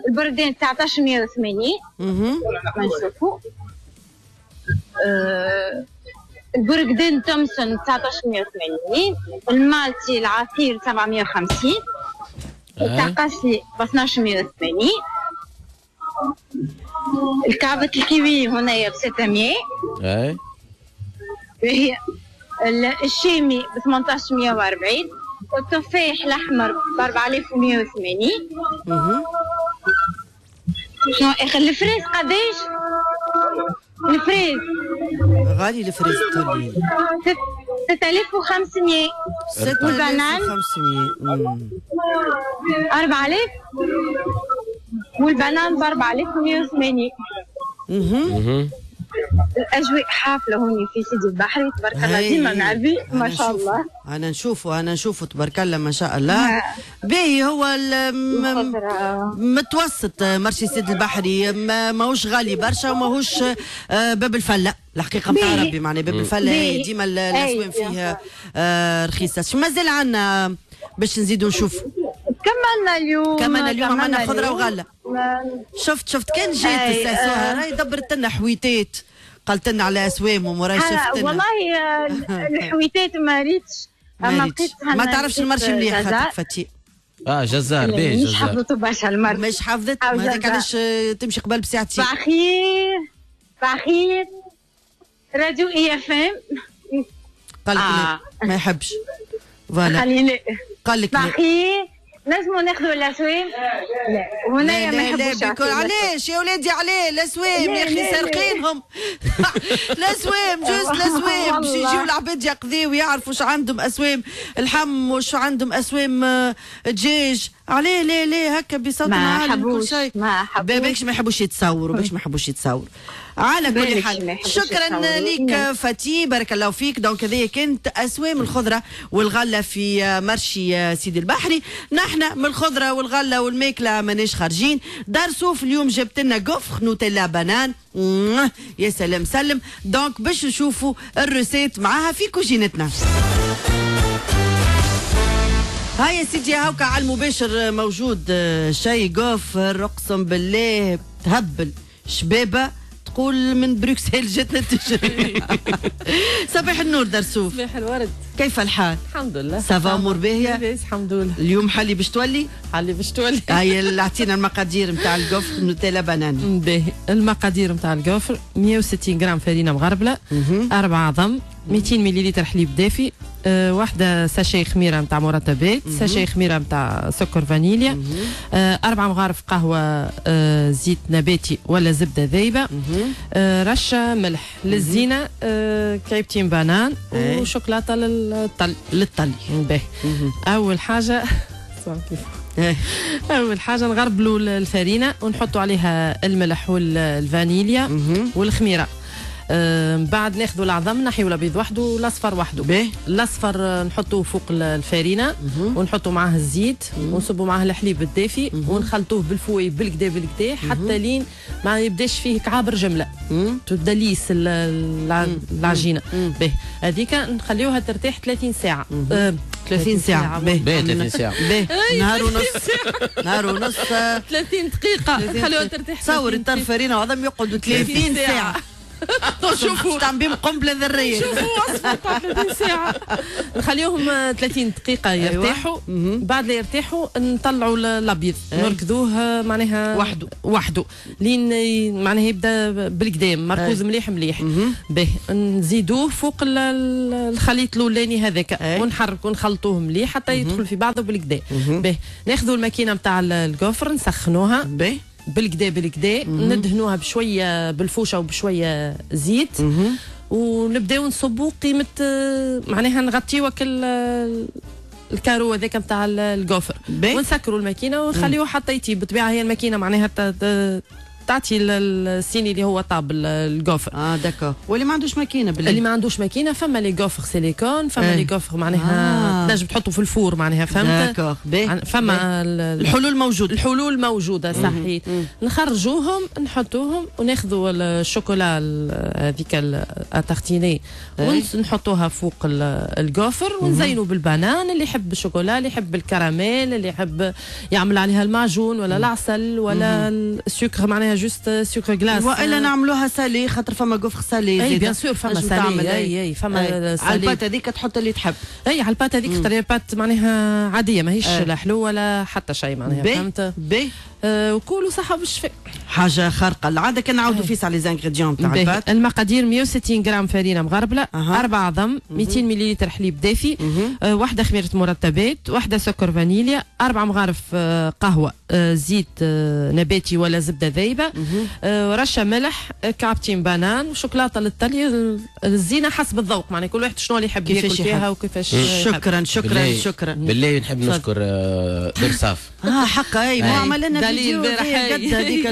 1980. ما نشوفو. البرقدين تومسون 1980. المالتي العصير 750. التعقاسي ب 1280. الكعبة الكيوي هنايا ب 600. اي هي الشيمي ب 1840. والتفاح الاحمر ب 4180. شنو اخر ال fraise قداش؟ ال fraise غالي، ال fraise تولي 6500. وال banane 6500. 4000. وال banane ب 4180. الاجواء حافلة هوني في سيدي البحري تبارك الله، ديما معبي ما شاء الله. انا نشوفه انا نشوفه تبارك الله ما شاء الله. باهي هو متوسط marché سيدي البحري، ماهوش غالي برشا وماهوش باب الفلة الحقيقة نتاع ربي، معناها باب الفلة ديما الاسوام فيها رخيصة. شو مازال عندنا باش نزيدوا نشوفوا؟ كملنا اليوم، كملنا اليوم عملنا خضرة وغله. شفت كان جات الساسوها راهي دبرت لنا حويتات، قالت لنا على اسوامهم وراهي شفت لنا. والله الحويتات ما ريتش، ما تعرفش ال marché مليح خاطر فاتي. جزار باهي، مش حفظته برشا ال marché، مش حفظت، هذاك علاش تمشي قبل بساعتين. صباح الخير، صباح الخير راديو IFM. قال لك ما يحبش voilà، خليني قال لك صباح الخير نجموا ناخذوا الاسوام؟ لا هنايا ما يحبوش. علاش يا ولادي؟ علاه الاسوام يا اخي سارقينهم. الاسوام juste الاسوام باش يجيو العباد يقضيو ويعرفوا شو عندهم اسوام الحم وشو عندهم اسوام دجاج. علاه لا لا هكا بصوت عالي كل شيء. بالكش ما يحبوش يتصوروا، باش ما يحبوش يتصوروا. على كل حال شكرا لك فاتي، بارك الله فيك. donc هذه كانت اسوام الخضرة والغلة في marché سيدي البحري. نحن من الخضرة والغلة والماكله ماناش خارجين. دار سوف اليوم جبت لنا gaufre Nutella banane، يا سلام سلم. donc باش نشوفوا ال recette معاها في كوجينتنا. هاي يا سيدي هاوكا على المباشر موجود شاي gaufre، اقسم بالله تهبل شبابه تقول من بروكسل جاتنا تجري. صباح النور درسوف. صباح الورد، كيف الحال؟ الحمد لله. ça va امور باهيه؟ لاباس الحمد لله. اليوم حلي باش تولي؟ حلي باش تولي. هاي اعطينا المقادير نتاع ال gaufre Nutella banane. باهي، المقادير نتاع ال gaufre 160 غرام فرينه مغربله، 4 عظم، 200 مليلتر حليب دافي، واحدة sachet خميرة نتاع مرطبات، sachet خميرة نتاع سكر فانيليا، 4 مغارف قهوة زيت نباتي ولا زبدة ذايبة، رشة ملح للزينة، كعيبتين banane وشوكولاتة للطلي. للطلي. باهي. أول حاجة أول حاجة نغربلوا الفرينة ونحطوا عليها الملح والفانيليا والخميرة. بعد ناخذوا العظم نحيوا الابيض وحده والاصفر وحده. الاصفر نحطوه فوق الفارينه ونحطوا معاه الزيت ونصبوا معاه الحليب الدافي ونخلطوه بال fouet بالكدا بالكدا حتى لين ما يبداش فيه كعابر جملة، تبدا lisse العجينة. باهي، هذيك نخليوها ترتاح 30 ساعة. 30 ساعة. باهي 30 ساعة. باهي نهار ونص. نهار ونص 30 دقيقة نخليوها ترتاح. تصور الطرف فرينه وعظم يقعدوا 30 ساعة. شوفوا تعمل بهم قنبلة ذرية. شوفوا وصفه تاع 30 ساعة. نخليهم 30 دقيقة يرتاحوا. بعد لا يرتاحوا نطلعوا الابيض نركضوه معناها وحده وحده لين معناها يبدا بالقدام مركوز مليح مليح. باهي، نزيدوه فوق الخليط الاولاني هذاك ونحركوا ونخلطوه مليح حتى يدخل في بعضه بالقدا. باهي، ناخذوا الماكينة نتاع ال gaufre نسخنوها بالكدا بالكدا، ندهنوها بشوية بالفوشه وبشويه زيت ونبداو نصبوا قيمة معناها نغطيو ال carreau هذاك نتاع ال gaufre ونسكروا الماكينة ونخليوه حتى يطيب. بالطبيعة هي الماكينة معناها تعطي السيني اللي هو طاب ال gaufre. d'accord. واللي ما عندوش ماكينة بالله؟ اللي ما عندوش ماكينة فما les gaufres silicone، فما les gaufres معناها تنجم تحطه في ال four معناها، فهمت؟ d'accord. فما الحلول موجودة. الحلول موجودة صحيح. نخرجوهم نحطوهم وناخذوا الشوكولا هذيك à tartiner ونحطوها فوق ال gaufre ونزينوا بال banane. اللي يحب الشوكولا، اللي يحب الكراميل، اللي يحب يعمل عليها المعجون ولا العسل ولا السكر معناها juste sucre glace، والا نعملوها salé خاطر فما gaufre salé. اي bien sûr فما salé. اي فما salé على ال pâte هذيك تحط اللي تحب. اي على ال pâte هذيك، خاطر ال pâte معناها عادية ماهيش لا حلوة ولا حتى شيء معناها، فهمت؟ بي وكلوا صحة بالشفاء. حاجة خارقة العادة. كان نعاودوا فيس على les ingrédients تاع ال pâte. المقادير 160 غرام فرينه مغربله، 4 عظم، 200 مليلتر حليب دافي، واحدة خميره مرطبات، واحدة سكر فانيليا، 4 مغارف قهوة زيت نباتي ولا زبدة ذايبه، رشه ملح، كعبتين banane، وشوكولاته للطلي. الزينة حسب الذوق معناها كل واحد شنو اللي يحب ياكل فيها وكيفاش. شكرا شكرا شكرا. بالله نحب نشكر درصاف. حقا اي ما عمل لنا فيديو قد هذيك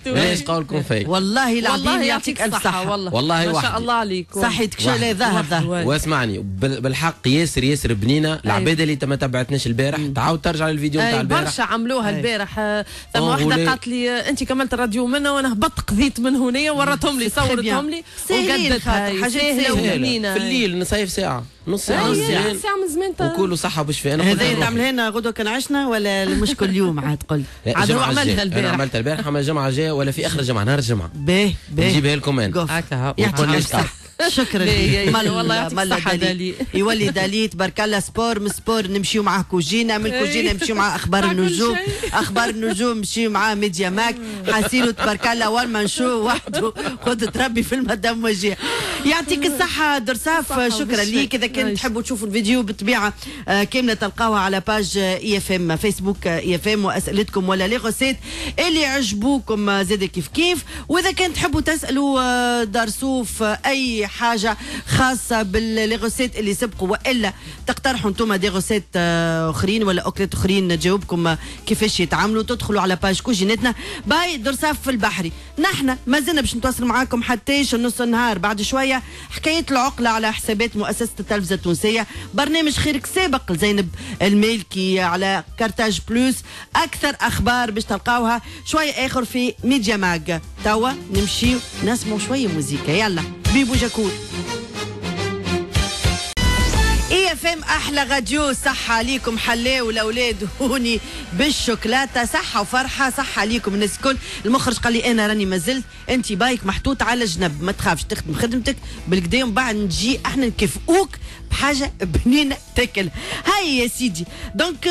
ليش قولكم فيك والله العظيم يعطيك الف صحة والله ما شاء الله عليك. صحيتك شو لا ظهر ظهر. واسمعني بالحق ياسر ياسر بنينه. العباد اللي ما تبعتناش البارح تعاود ترجع للفيديو نتاع البارح. برشا عملوها البارح. ثم واحدة قالت لي انت كملت الراديو منا وانا هبطت قضيت من هنا ورتهم لي صورتهم لي وقدتها. حاجات سهلة وبنينه. في الليل نصيف ساعة نص ساعة نص ساعة من زمان وكلوا صحة وبشفاء. انا هذا تعملها لنا غدوه كان عشنا ولا مش كل يوم عاد قل؟ عاد هو عملتها البارح. انا عملتها البارح اما الجمعة الجاية ولا في اخر الجمعة نهار الجمعة باهي باهي نجيبها لكم انا. هكا يعطيك الصحة. شكرا لك والله يعطيك الصحة دالي. يولي دالي تبارك الله sport من sport نمشيو معاه كوجينه، من كوجينه نمشيو مع اخبار النجوم، اخبار النجوم نمشيو معاه ميديا ماك، حاسيلو تبارك الله one man show وحده قدرة ربي في المدام وجيه. يعطيك الصحة درصاف، شكرا ليك. اذا كان تحبوا تشوفوا الفيديو بالطبيعة كاملة تلقاوها على page IFM فيسبوك IFM، واسئلتكم ولا les recettes اللي عجبوكم زاد كيف كيف. واذا كان تحبوا تسالوا درصوف اي حاجة خاصة ب les recettes اللي سبقوا، والا تقترحوا انتم des recettes اخرين ولا اكلات اخرين تجاوبكم كيفاش يتعاملوا، تدخلوا على page كوجينتنا by درصاف في البحري. نحن مازلنا باش نتواصل معاكم حتى نص النهار. بعد شوية حكاية العقلة على حسابات مؤسسة التلفزة التونسية، برنامج خيرك سابق لزينب المالكي على كارتاج بلوس، اكثر اخبار باش تلقاوها شوية اخر في ميديا ماج. توا نمشيو نسمعوا شوية موزيكا، يلا بيبو جاكور. IFM احلى راديو. صحة عليكم حلاو الاولاد هوني بالشوكولاته، صحة وفرحه، صحة عليكم الناس الكل. المخرج قال لي انا راني مازلت، انت بايك محطوط على جنب، ما تخافش تخدم خدمتك بالكدا ومن بعد نجي احنا نكافئوك بحاجة بنينه تاكل. هاي يا سيدي donc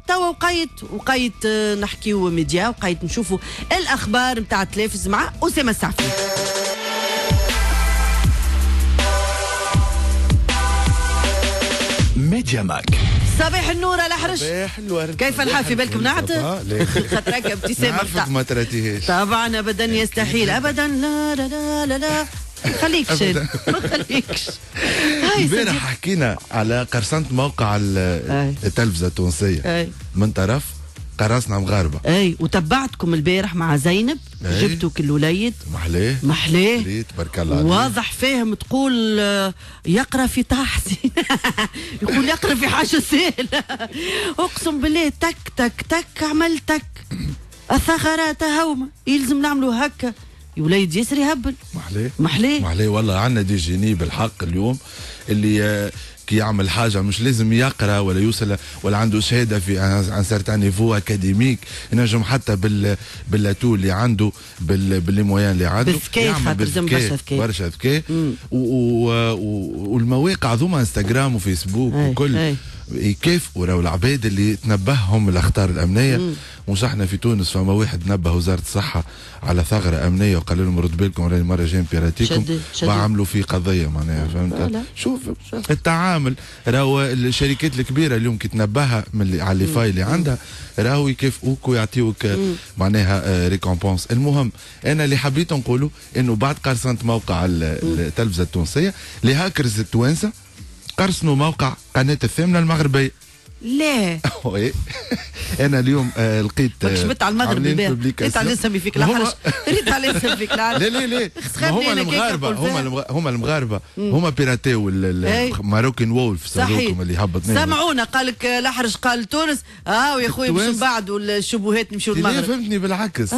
توا وقيت نحكيو ميديا، وقيت نشوفوا الاخبار نتاع التلفز مع اسامة السعفي. ميديا ماك. صباح النور على حرش. صباح الورد. كيف الحال؟ في بالكم نعت؟ خاطرك ابتسامة نعرفك ما تراتيهاش. طبعا ابدا يستحيل ابدا، لا لا لا لا لا خليكش ما خليكش. امبارح حكينا على قرصنة موقع التلفزة التونسية من طرف قراصنة مغاربة. اي وتبعتكم البارح مع زينب، جبتوا كل وليد محلاه محلاه تبارك الله عليه، واضح فاهم، تقول يقرا في تحسين يقول يقرا في حاجة سهلة. اقسم بالله تك تك تك عمل تك الثغرات هوما يلزم نعملوا هكا. يا وليد ياسر يهبل محلاه محلاه محلاه والله. عندنا des génies بالحق اليوم اللي كي يعمل حاجة مش لازم يقرا ولا يوصل ولا عنده شهادة في un certain niveau académique، ينجم حتى بال atouts اللي عنده ب les moyens اللي عنده بالذكاء، خاطر لازم برشا ذكاء برشا ذكاء. والمواقع ذوما انستغرام وفيسبوك وكل يكافئوا راهو العباد اللي تنبههم الاخطار الامنية. مش احنا في تونس فما واحد نبه وزارة الصحة على ثغره امنية وقال لهم رد بالكم راني المرة الجاية بيراتيكم، وعملوا فيه قضية معناها فهمت. شوف التعامل راهو الشركات الكبيرة اليوم كي تنبهها من على les failles اللي عندها راهو يكافئوك ويعطيوك معناها récompense. المهم انا اللي حبيت نقوله انه بعد قرصنة موقع التلفزة التونسية les hackers التوانسة قرصنوا موقع قناة الثامنة المغربية. لا انا اليوم لقيت ماكش على المغرب البارح، ريت على نسمي فيك الحرش، ريت على نسمي فيك الحرش. لا لا لا هما المغاربة، هما المغاربة هما بيراتيو Moroccan Wolf هذوكم اللي هبطنا. سمعونا قال لك الحرش قال تونس، ويا خويا باش من بعد الشبهات نمشيو للمغرب. فهمتني بالعكس،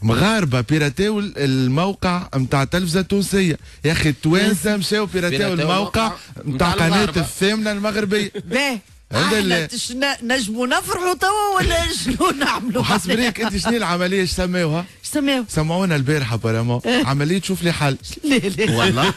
مغاربة بيراتيو الموقع نتاع التلفزة التونسية، يا اخي التوانسة مشاو بيراتيو الموقع نتاع قناة الثامنة المغربية. باهي احنا نجموا نفرحوا توا ولا شنو نعملوا؟ وحسب رايك انت شنو العملية اش سماوها؟ اش سماوها؟ سمعونا البارحة apparemment عملية شوف لي حل. لا لا والله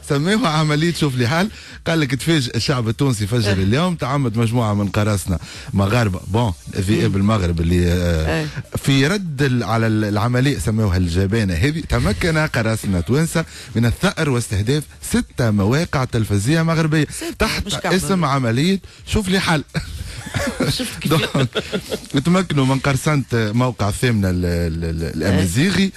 سموها عملية شوف لي حل. قال لك تفاجئ الشعب التونسي فجر اليوم تعمد مجموعة من قراصنة مغاربة bon ذئاب المغرب اللي في رد على العملية سموها الجبانه هذه، تمكن قراصنة توانسة من الثأر واستهداف 6 مواقع تلفزيونية مغربية تحت اسم عملية شوف لي حل. تمكنوا من قرصنة موقع الثامنة الامازيغي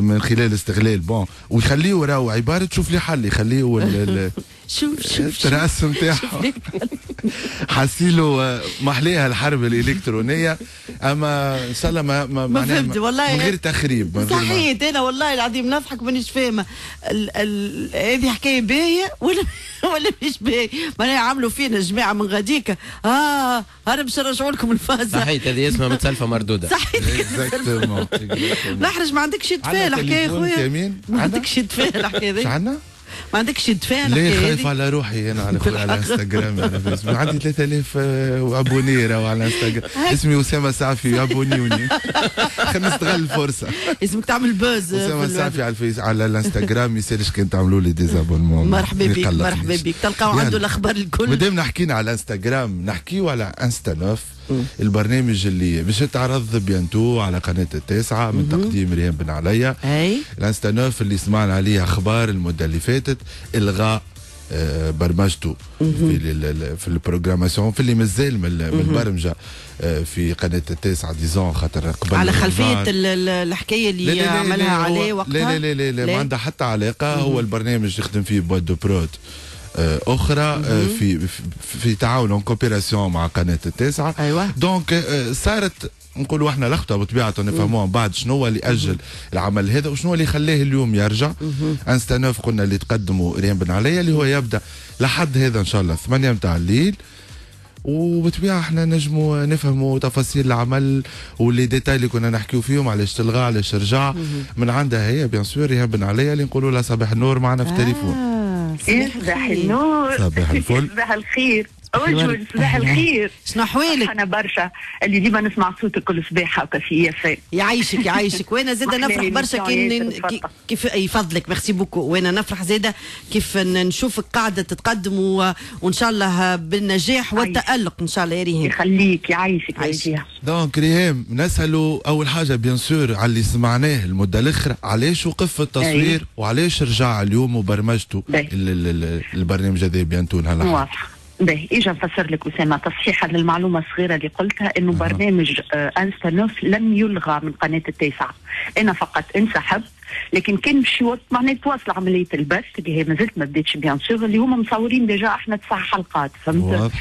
من خلال استغلال bon ويخليه راهو عبارة شوف لي حل، يخليه شوف شوف الراس نتاعو حاسيلو محليها الحرب الالكترونية. اما ان شاء الله ما فهمت والله، من غير تخريب. صحيت انا والله العظيم نضحك مانيش فاهمه هذه حكاية باهيه ولا مش باهيه. معناها عملوا فينا جماعة من غاديك انا باش نرجعوا لكم الفازة. صحيت هذه اسمها متسلفه مردودة. صحيت نحرج. ما عندكش تفاهه الحكاية خويا، ما عندكش تفاهه الحكاية هذه. عندنا؟ ما عندكش دفاع؟ ليه خايف على روحي انا على خويا على انستغرام، على فيسبوك عندي 3000 abonnés راهو على انستغرام، اسمي اسامة سعفي abonnez وني، خلينا نستغل الفرصة. اسمك تعمل buzz. اسامة سعفي على الفيس على الانستغرام، ما يسالش كان تعملوا لي des abonnements. مرحبا بك، مرحبا بك، تلقاو عنده الاخبار الكل. مادام حكينا على الانستغرام نحكيو على انستا neuf، البرنامج اللي باش يتعرض bientôt على قناة التاسعة من تقديم ريهام بن عليا. الانستا neuf اللي سمعنا عليه اخبار المدة اللي فاتت، الغاء برمجته في ال programmation، في اللي مازال من البرمجة في قناة التاسعة disons، خاطر قبل على خلفية الحكاية اللي عملها عليه وقتها. لا لا لا لا، ما عندها حتى علاقة. هو البرنامج يخدم فيه boîte de prod اخرى في في تعاون en coopération مع قناة التاسعة. ايوه. donc صارت نقولوا احنا لخبطة بطبيعة، نفهموها من بعد شنو هو اللي اجل العمل هذا وشنو اللي خلاه اليوم يرجع. انستا neuf قلنا اللي تقدموا ريهام بن عليا، اللي هو يبدا لحد هذا ان شاء الله 8 متاع الليل، وبطبيعة احنا نجموا نفهموا تفاصيل العمل و les détails اللي كنا نحكيو فيهم، علاش تلغى علاش رجع، من عندها هي bien sûr ريهام بن عليا اللي نقولوا لها صباح النور معنا في التليفون. صباح النور. صباح الفل. صباح الخير. وجه صباح الخير. شنو احوالك؟ انا برشا اللي ديما نسمع صوتك كل صباح هكا في IFM. يعيشك يعيشك، وانا زاده نفرح برشا كيف يفضلك، merci beaucoup. وانا نفرح زاده كيف نشوفك قاعدة تتقدم وان شاء الله بالنجاح والتالق ان شاء الله يا ريهام. يخليك يعيشك يا donc ريهام نسالوا اول حاجة bien sûr على اللي سمعناه المدة الاخرى، علاش وقف التصوير وعلاش رجع اليوم وبرمجته البرنامج هذا bientôt نهار؟ واضح. باهي، اجا نفسر لك اسامة تصحيحا للمعلومة الصغيرة اللي قلتها، انه برنامج انستا neuf لم يلغى من قناة التاسعة، انا فقط انسحبت، لكن كان باش معناها تواصل عملية البث اللي هي مازالت ما بداتش bien sûr، اللي هما مصورين déjà احنا 9 حلقات، فهمت؟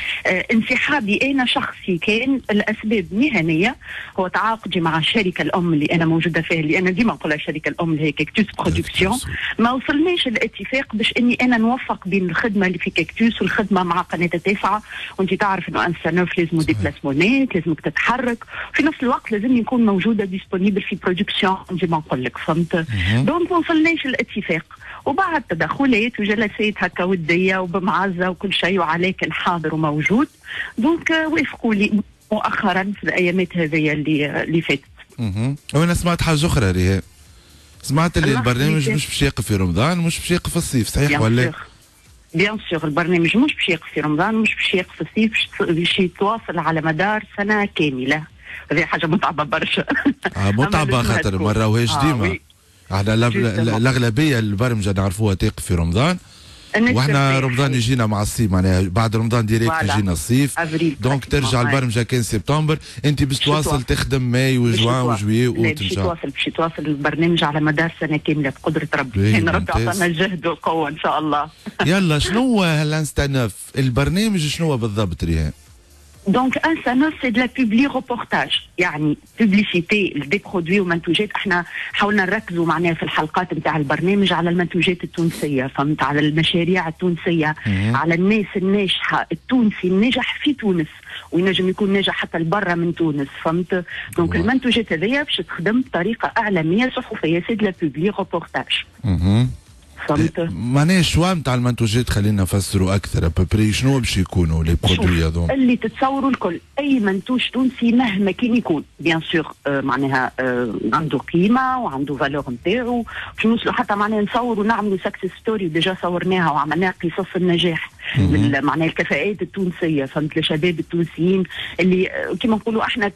انسحابي انا شخصي كان الاسباب مهنية، هو تعاقدي مع الشركة الام اللي انا موجودة فيها، اللي انا ديما نقولها الشركة الام اللي هي كاكتوس برودكسيون، ما وصلناش الاتفاق باش اني انا نوفق بين الخدمة اللي في كاكتوس والخدمة مع قناة التاسعة، وانت تعرف انه انستا neuf لازم déplacement ات، لازمك تتحرك، في نفس الوقت لازم يكون موجودة disponible في production ديما نقول لك، فهمت؟ donc ما وصلناش الاتفاق، وبعد تدخلات وجلسات هكا وديه وبمعزه وكل شيء، وعلاء كان حاضر وموجود، donc وافقوا لي مؤخرا في الايامات هذه اللي فاتت. وانا سمعت حاجة اخرى ريهام، سمعت اللي البرنامج مش باش يقف في رمضان، مش باش يقف في الصيف، صحيح ولا؟ bien sûr البرنامج مش باش يقف في رمضان، مش باش يقف في الصيف، باش يتواصل على مدار سنة كاملة. هذه حاجة متعبة برشا. متعبة خاطر ما راوهاش ديما. احنا الاغلبية البرمجة نعرفوها تقف في رمضان، واحنا رمضان يجينا مع الصيف، معناها بعد رمضان direct يجينا الصيف، donc ترجع البرمجة كان سبتمبر، انت باش تواصل تخدم ماي وجوان و juillet واوت ان شاء الله. باش يتواصل البرنامج على مدار سنة كاملة بقدره ربي، ان ربي عطانا الجهد والقوه ان شاء الله. يلا شنو هو الانستا neuf؟ البرنامج شنو هو بالضبط ريهام؟ donc انستا neuf c'est de la publi-reportage، يعني publicité des produits ومنتوجات. احنا حاولنا نركزوا معناها في الحلقات نتاع البرنامج على المنتوجات التونسية، فهمت، على المشاريع التونسية، على الناس الناجحة، التونسي الناجح في تونس وينجم يكون ناجح حتى لبرا من تونس، فهمت. donc المنتوجات هذيا باش تخدم بطريقة اعلامية صحفية، c'est de la publi-reportage. فهمت؟ معناها ال choix نتاع المنتوجات خلينا نفسروا اكثر à peu près شنو باش يكونوا les produits هذوما؟ اللي تتصوروا الكل، اي منتوج تونسي مهما كان يكون bien sûr معناها عنده قيمة وعنده valeur نتاعو، باش نوصلوا حتى معناها نصوروا ونعملوا success story، déjà صورناها وعملناها قصص النجاح من معناها الكفاءات التونسية، فهمت، الشباب التونسيين اللي كيما نقولوا احنا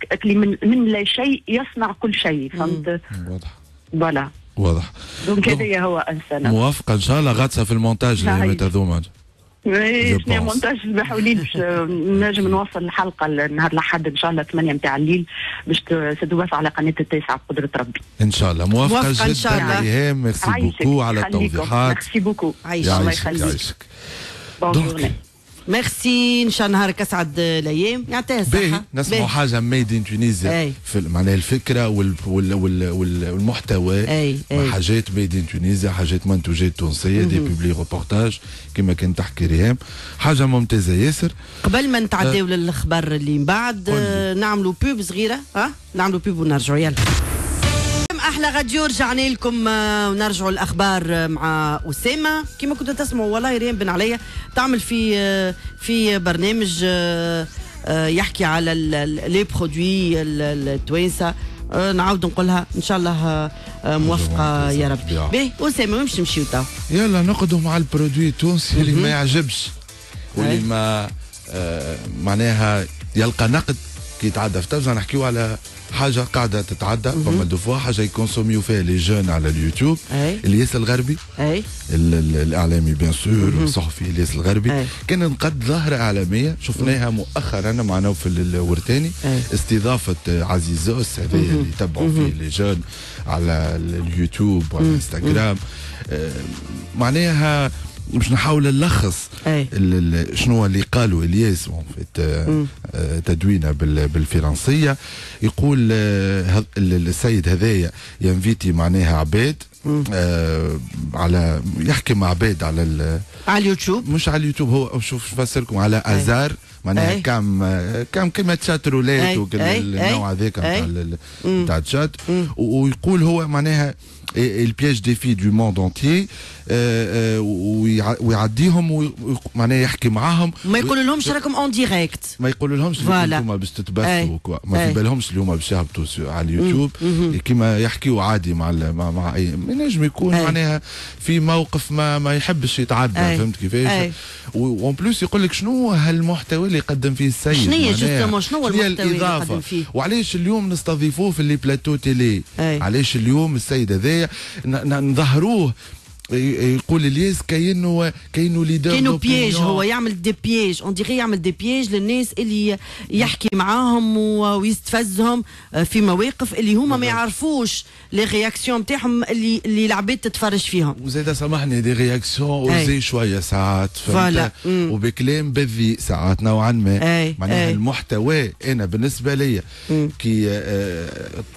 من لا شيء يصنع كل شيء، فهمت؟ واضح. voilà واضح. donc هذايا هو انسانه. موافقة ان شاء الله، غاطسه في المونتاج الايامات هذوما. شنو مونتاج الصباح وليل باش نجم نوصل الحلقة نهار الاحد ان شاء الله 8 نتاع الليل باش تتبث على قناة التاسعة بقدره ربي. ان شاء الله. موافقة جدا ريهام، merci beaucoup على التوضيحات. merci beaucoup. عايشك. الله يخليك. يعيشك. bonne journée. ميرسي، ان شاء الله نهارك اسعد الايام، يعطيها الصحة. نسمعوا حاجة made in Tunisia في معناها الفكرة والمحتوى، حاجات made in Tunisia، حاجات منتوجات تونسية، des publi-reportages كما كانت تحكي ريهام، حاجة ممتازة ياسر. قبل ما نتعداو للخبر اللي من بعد نعملوا pub صغيرة، ها نعملوا pub ونرجعوا. يلا احلى راديو. رجعنا لكم ونرجعوا الاخبار مع اسامة. كما كنتوا تسمعوا والله ريم بن عليا تعمل في برنامج يحكي على les produits التوانسة. نعاود نقولها ان شاء الله موفقة يا رب. باهي اسامة وين باش نمشيو تو؟ يلا نقعدوا مع ال produit التونسي اللي ما يعجبش واللي ما معناها يلقى نقد كي يتعدى في تلفزة. نحكيو على حاجة قاعدة تتعدى فما des fois حاجة يكونسوميو فيها les jeunes على اليوتيوب. الياس الغربي الاعلامي bien sûr الصحفي الياس الغربي كان نقد ظاهره اعلامية شفناها مؤخرا مع نوفل الورتاني، استضافة عزيزوس هذا اللي يتبعوا فيه les jeunes على اليوتيوب وعلى الانستغرام. معناها باش نحاول نلخص شنو اللي قالوا الياس تدوينه بالفرنسيه. يقول السيد هذايا ينفيتي معناها عباد على يحكي مع عباد على على اليوتيوب، مش على اليوتيوب، هو شوف نفسركم على ازار معناها كام كلمة chatroulette النوع هذاك نتاع الشات. ويقول هو معناها il piège des filles du monde entier ويعديهم معناها يحكي معاهم، ما يقولوا لهمش راكم en direct، ما يقولوا لهمش انتم باش تتبثوا، ما في بالهمش اليوم باش يهبطوا على اليوتيوب. كيما يحكيوا عادي مع مع اي نجم يكون معناها في موقف ما يحبش يتعدى، فهمت كيفاش؟ و en plus يقول لك شنو هالمحتوى اللي يقدم فيه السيد، شنو هي justement شنو المحتوى اللي يقدم فيه، وعلاش اليوم نستضيفوه في les plateaux télé، علاش اليوم السيد هذايا نظهروه. يقول الياس كاينه leader، كاينه piège، هو يعمل des pièges، on dirait يعمل des pièges للناس اللي يحكي معاهم ويستفزهم في مواقف اللي هما ما يعرفوش les réactions نتاعهم اللي العباد تتفرج فيهم. وزاد سامحني des réactions osées شوية ساعات، فهمت، وبكلام بذيء ساعات نوعا ما. معناها المحتوى انا بالنسبة لي كي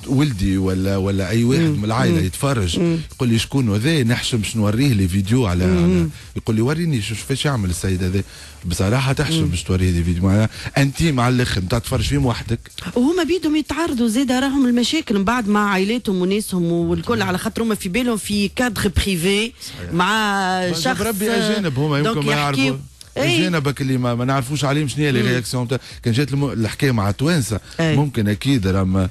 ولدي ولا اي واحد من العائلة يتفرج يقول لي شكون هذا، نحشم شنو نوريه les vidéos على يقول لي وريني شوف فاش يعمل السيد هذا. بصراحة تحشم باش توريه des vidéos معناها intime على الاخر نتاع تفرج فيهم وحدك. وهما بيدهم يتعرضوا زاد راهم المشاكل من بعد مع عائلاتهم وناسهم والكل، على خاطر هما في بالهم في cadre privé مع شخص ربي اجانب هما يمكن ما يعرفوا اجانبك اللي ما نعرفوش عليهم شنو هي les réactions. كان جات الحكاية مع توانسة ممكن اكيد راهم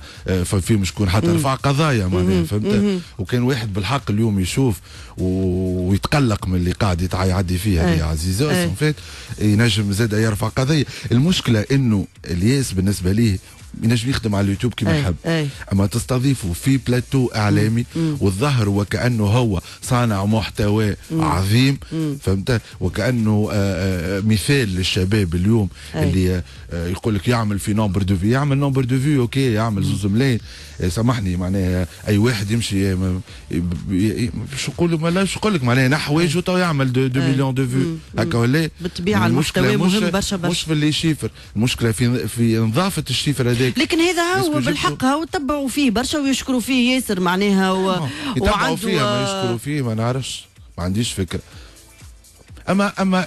فيهم شكون حتى رفع قضايا معناها، فهمت؟ وكان واحد بالحق اليوم يشوف ويتقلق من اللي قاعد يعدي فيه هذه عزيزه فات ينجم زاد يرفع قضية. المشكلة انه الياس بالنسبة ليه ينجم يخدم على اليوتيوب كما يحب، اما تستضيفه في بلاتو اعلامي والظهر وكانه هو صانع محتوى عظيم، فهمت؟ وكانه مثال للشباب اليوم اللي يقول لك يعمل في nombre de vues، يعمل nombre de vues OK، يعمل 2 ملايين، سامحني معناها اي واحد يمشي شو نقول ما شو نقول لك معناها نحويجو تو يعمل 2 millions de vues هكا ولا؟ بالطبيعة المحتوى مهم برشا برشا، مش في les chiffres، المشكلة في نظافة ال chiffre هذاك. لكن هذا هو بالحق هو تبعوا فيه برشا ويشكروا فيه ياسر معناها يتبعوا فيه ما يشكروا فيه، ما نعرفش، ما عنديش فكرة. اما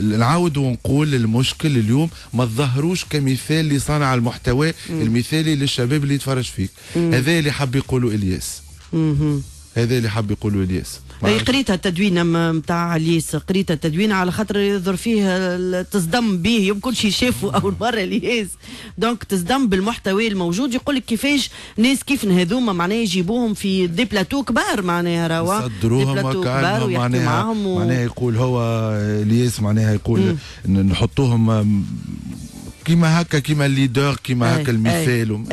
نعاود ونقول المشكل اليوم ما تظهروش كمثال لصانع المحتوى المثالي للشباب اللي يتفرج فيك. هذا اللي حب يقولوا الياس. هذا اللي حب يقولوا الياس. اي قريتها التدوينه نتاع الياس، قريتها التدوينه على خاطر يظهر فيه تصدم به يمكن شي شافه اول مرة الياس، donc تصدم بالمحتوى الموجود. يقول لك كيفاش ناس كيف هذوما معناها يجيبوهم في des plateaux كبار معناها راهو يصدروهم كبار ويحكوا معاهم معناها يقول هو الياس معناها يقول نحطوهم كيما هكا، كيما ال leader، كيما هكا المثال.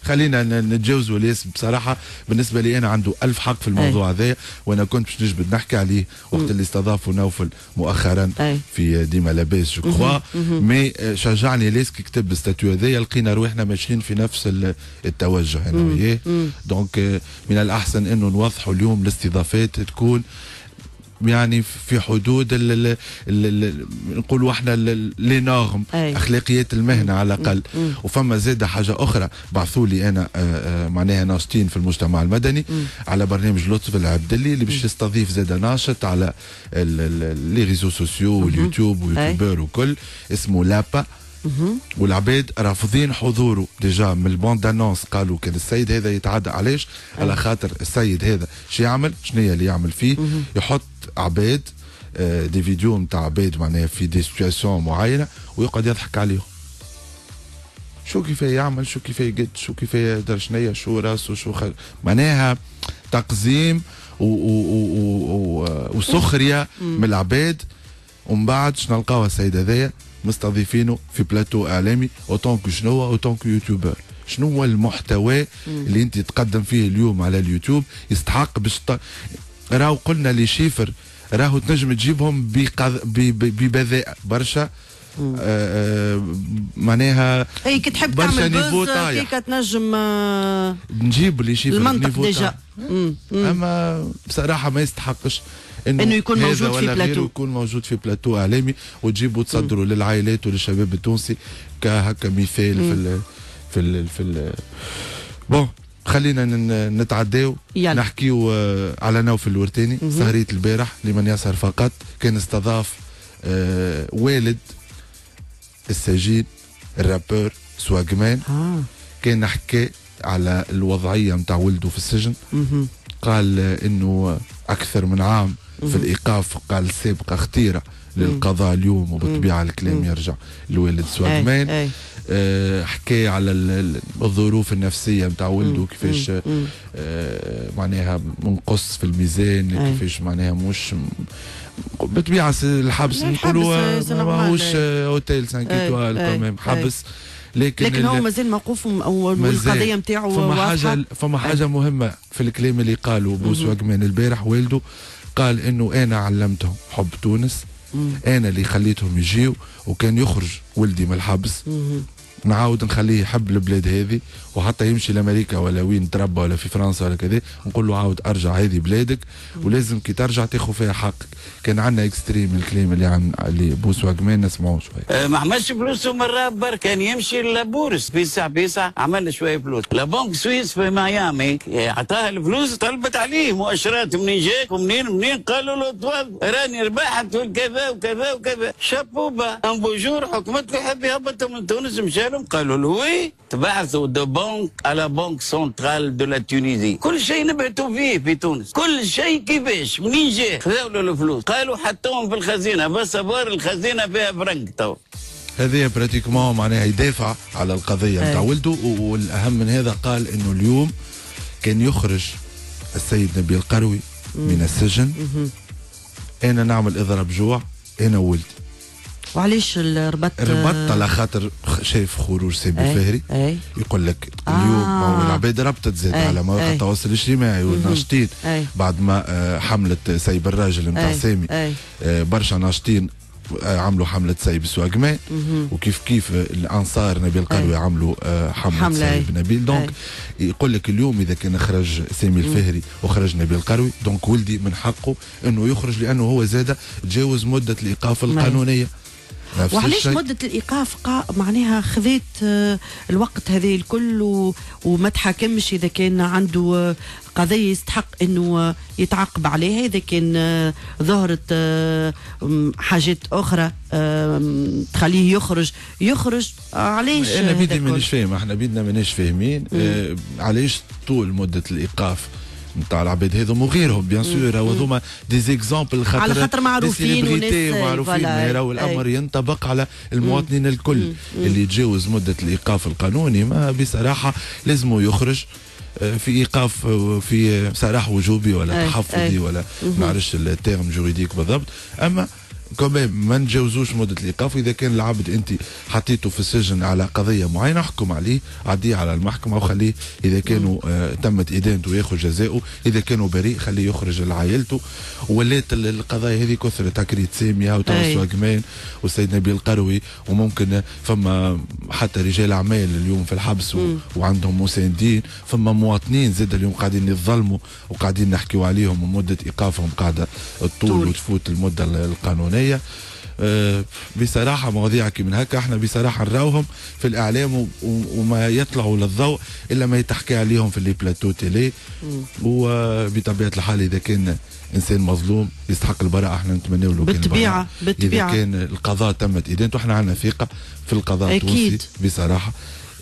خلينا نتجاوزوا الياس. بصراحة بالنسبة لي انا عنده الف حق في الموضوع هذا، وانا كنت باش نجبد نحكي عليه وقت اللي استضافوا نوفل مؤخرا في ديما لاباس je crois، mais شجعني الياس كي كتب ال statut هذايا، لقينا رواحنا ماشيين في نفس التوجه انا وياه. donc من الاحسن انه نوضحوا اليوم الاستضافات تكون يعني في حدود نقولوا احنا les normes، اخلاقيات المهنة على الاقل. وفما زاد حاجة اخرى بعثوا لي انا معناها ناشطين في المجتمع المدني على برنامج لطف العبدلي اللي باش يستضيف زاد ناشط على les réseaux sociaux واليوتيوب ويوتيوبر وكل، اسمه لابا. والعباد رافضين حضوره déjà من ال bande-annonce. قالوا كان السيد هذا يتعدى علاش؟ على خاطر السيد هذا شو يعمل؟ شنو اللي يعمل فيه؟ يحط عباد des vidéos نتاع عباد معناها في des situations معينة ويقعد يضحك عليهم. شو كيف يعمل، شو كيف يقد، شو كيف يدر شنية، شو راسه، شو معناها تقزيم وسخرية من العباد. ومن بعد شنو نلقاو السيد هذايا مستضيفينه في بلاتو اعلامي en tant que شنو، en tant que youtubeur. شنو هو المحتوى اللي انت تقدم فيه اليوم على اليوتيوب يستحق باش راهو قلنا les chiffres راهو تنجم تجيبهم ببذاء برشا معناها اي كي تحب تعمل buzz كي تنجم نجيب les chiffres المنطق déjà. اما بصراحة ما يستحقش انه يكون موجود في بلاتو، يكون موجود في بلاتو اعلامي وتجيبوا تصدروا للعائلات وللشباب التونسي كهكا مثال في ال في ال bon خلينا نتعداو نحكيو على نوفل الورتاني. سهرية البارح لمن يسهر فقط كان استضاف والد السجين ال rappeur سواقمان. كان حكى على الوضعية نتاع ولده في السجن. قال انه اكثر من عام في الايقاف، قال سابقه خطيرة للقضاء اليوم، وبالطبيعه الكلام يرجع لوالد سواقمان. حكى على الظروف النفسية نتاع ولده كيفاش معناها منقص في الميزان، كيفاش معناها مش بالطبيعة الحبس نقولوا ماهوش اوتيل 5 étoiles quand même حبس، لكن هو مازال موقوف والقضية نتاعو فما فما حاجة مهمة في الكلام اللي قاله بو سواقمان البارح. والده قال انه انا علمتهم حب تونس، انا اللي خليتهم يجيو، وكان يخرج ولدي من الحبس نعاود نخليه يحب البلاد هذه، وحتى يمشي لامريكا ولا وين تربى ولا في فرنسا ولا كذا نقول له عاود ارجع هذه بلادك، ولازم كي ترجع تاخذ فيها حقك. كان عندنا extrait من الكلام اللي عن اللي بو سواقمان نسمعوه شوية. ما عملش فلوسه من الراب، كان يمشي la bourse بيسع بيسع، عمل شوية فلوس. la banque suisse في ميامي عطاها الفلوس، طلبت عليه مؤشرات منين جاك ومنين منين، قالوا له تفضل راني ربحت وكذا وكذا وكذا. chapeau bas un beau jour حكمت له يحب يهبط من تونس، مشى لهم قالوا له oui تبعثوا de banque à la banque centrale de la Tunisie، كل شيء نبعثوا فيه في تونس، كل شيء كيفاش منين جا. خذاو له الفلوس قالوا حطوهم في الخزينة، بس بار الخزينة فيها فرنك. تو هذه pratiquement معناها يدافع على القضية نتاع ولده. والاهم من هذا قال انه اليوم كان يخرج السيد نبيل القروي من السجن، انا نعمل اضراب جوع انا وولدي. وعلاش ربط؟ ربط على خاطر شايف خروج سامي الفهري. يقول لك اليوم العباد ربطت زاد على مواقع التواصل الاجتماعي والناشطين بعد ما حملة سيب الراجل نتاع سامي. برشا ناشطين عملوا حملة سيب سواقمان، وكيف كيف الأنصار نبيل القروي عملوا حملة سيب نبيل. donc يقول لك اليوم إذا كان خرج سامي الفهري وخرج نبيل القروي، donc ولدي من حقه أنه يخرج، لأنه هو زاد تجاوز مدة الإيقاف القانونية. وعلاش مدة الإيقاف معناها خذيت الوقت هذا الكل وما تحاكمش إذا كان عنده قضية يستحق أنه يتعاقب عليها، إذا كان ظهرت حاجات أخرى تخليه يخرج علاش؟ أنا بيدي مانيش فاهم، احنا بيدنا مانيش فاهمين علاش طول مدة الإيقاف نتاع العباد هذوم وغيرهم bien sûr، هذوما des exemples على خاطر معروفين وناس معروفين، راهو الامر ينطبق على المواطنين الكل. اللي يتجاوز مده الايقاف القانوني ما بصراحة لازم يخرج في ايقاف في سراح وجوبي ولا تحفظي ولا ما نعرفش ال terme juridique بالضبط، اما quand même ما نتجاوزوش مده الايقاف. اذا كان العبد انت حطيته في السجن على قضية معينة احكم عليه، عديه على المحكمة وخليه اذا كانوا تمت ادانته ياخذ جزاؤه، اذا كانوا بريء خليه يخرج لعائلته. ولات القضايا هذه كثرت، تكريت سامية وتوسع كمان والسيد نبيل القروي، وممكن فما حتى رجال اعمال اليوم في الحبس وعندهم مساندين، فما مواطنين زاد اليوم قاعدين يتظلموا وقاعدين نحكيوا عليهم ومده ايقافهم قاعدة الطول وتفوت المدة القانونية. بصراحة مواضيع كي من هكا احنا بصراحة نراوهم في الاعلام وما يطلعوا للضوء الا ما يتحكي عليهم في les plateaux télé. وبطبيعة الحال اذا كان انسان مظلوم يستحق البراءة احنا نتمنى له بالطبيعة. بالطبيعة اذا كان القضاء تمت ادانته، احنا عندنا ثقة في القضاء التونسي بصراحة.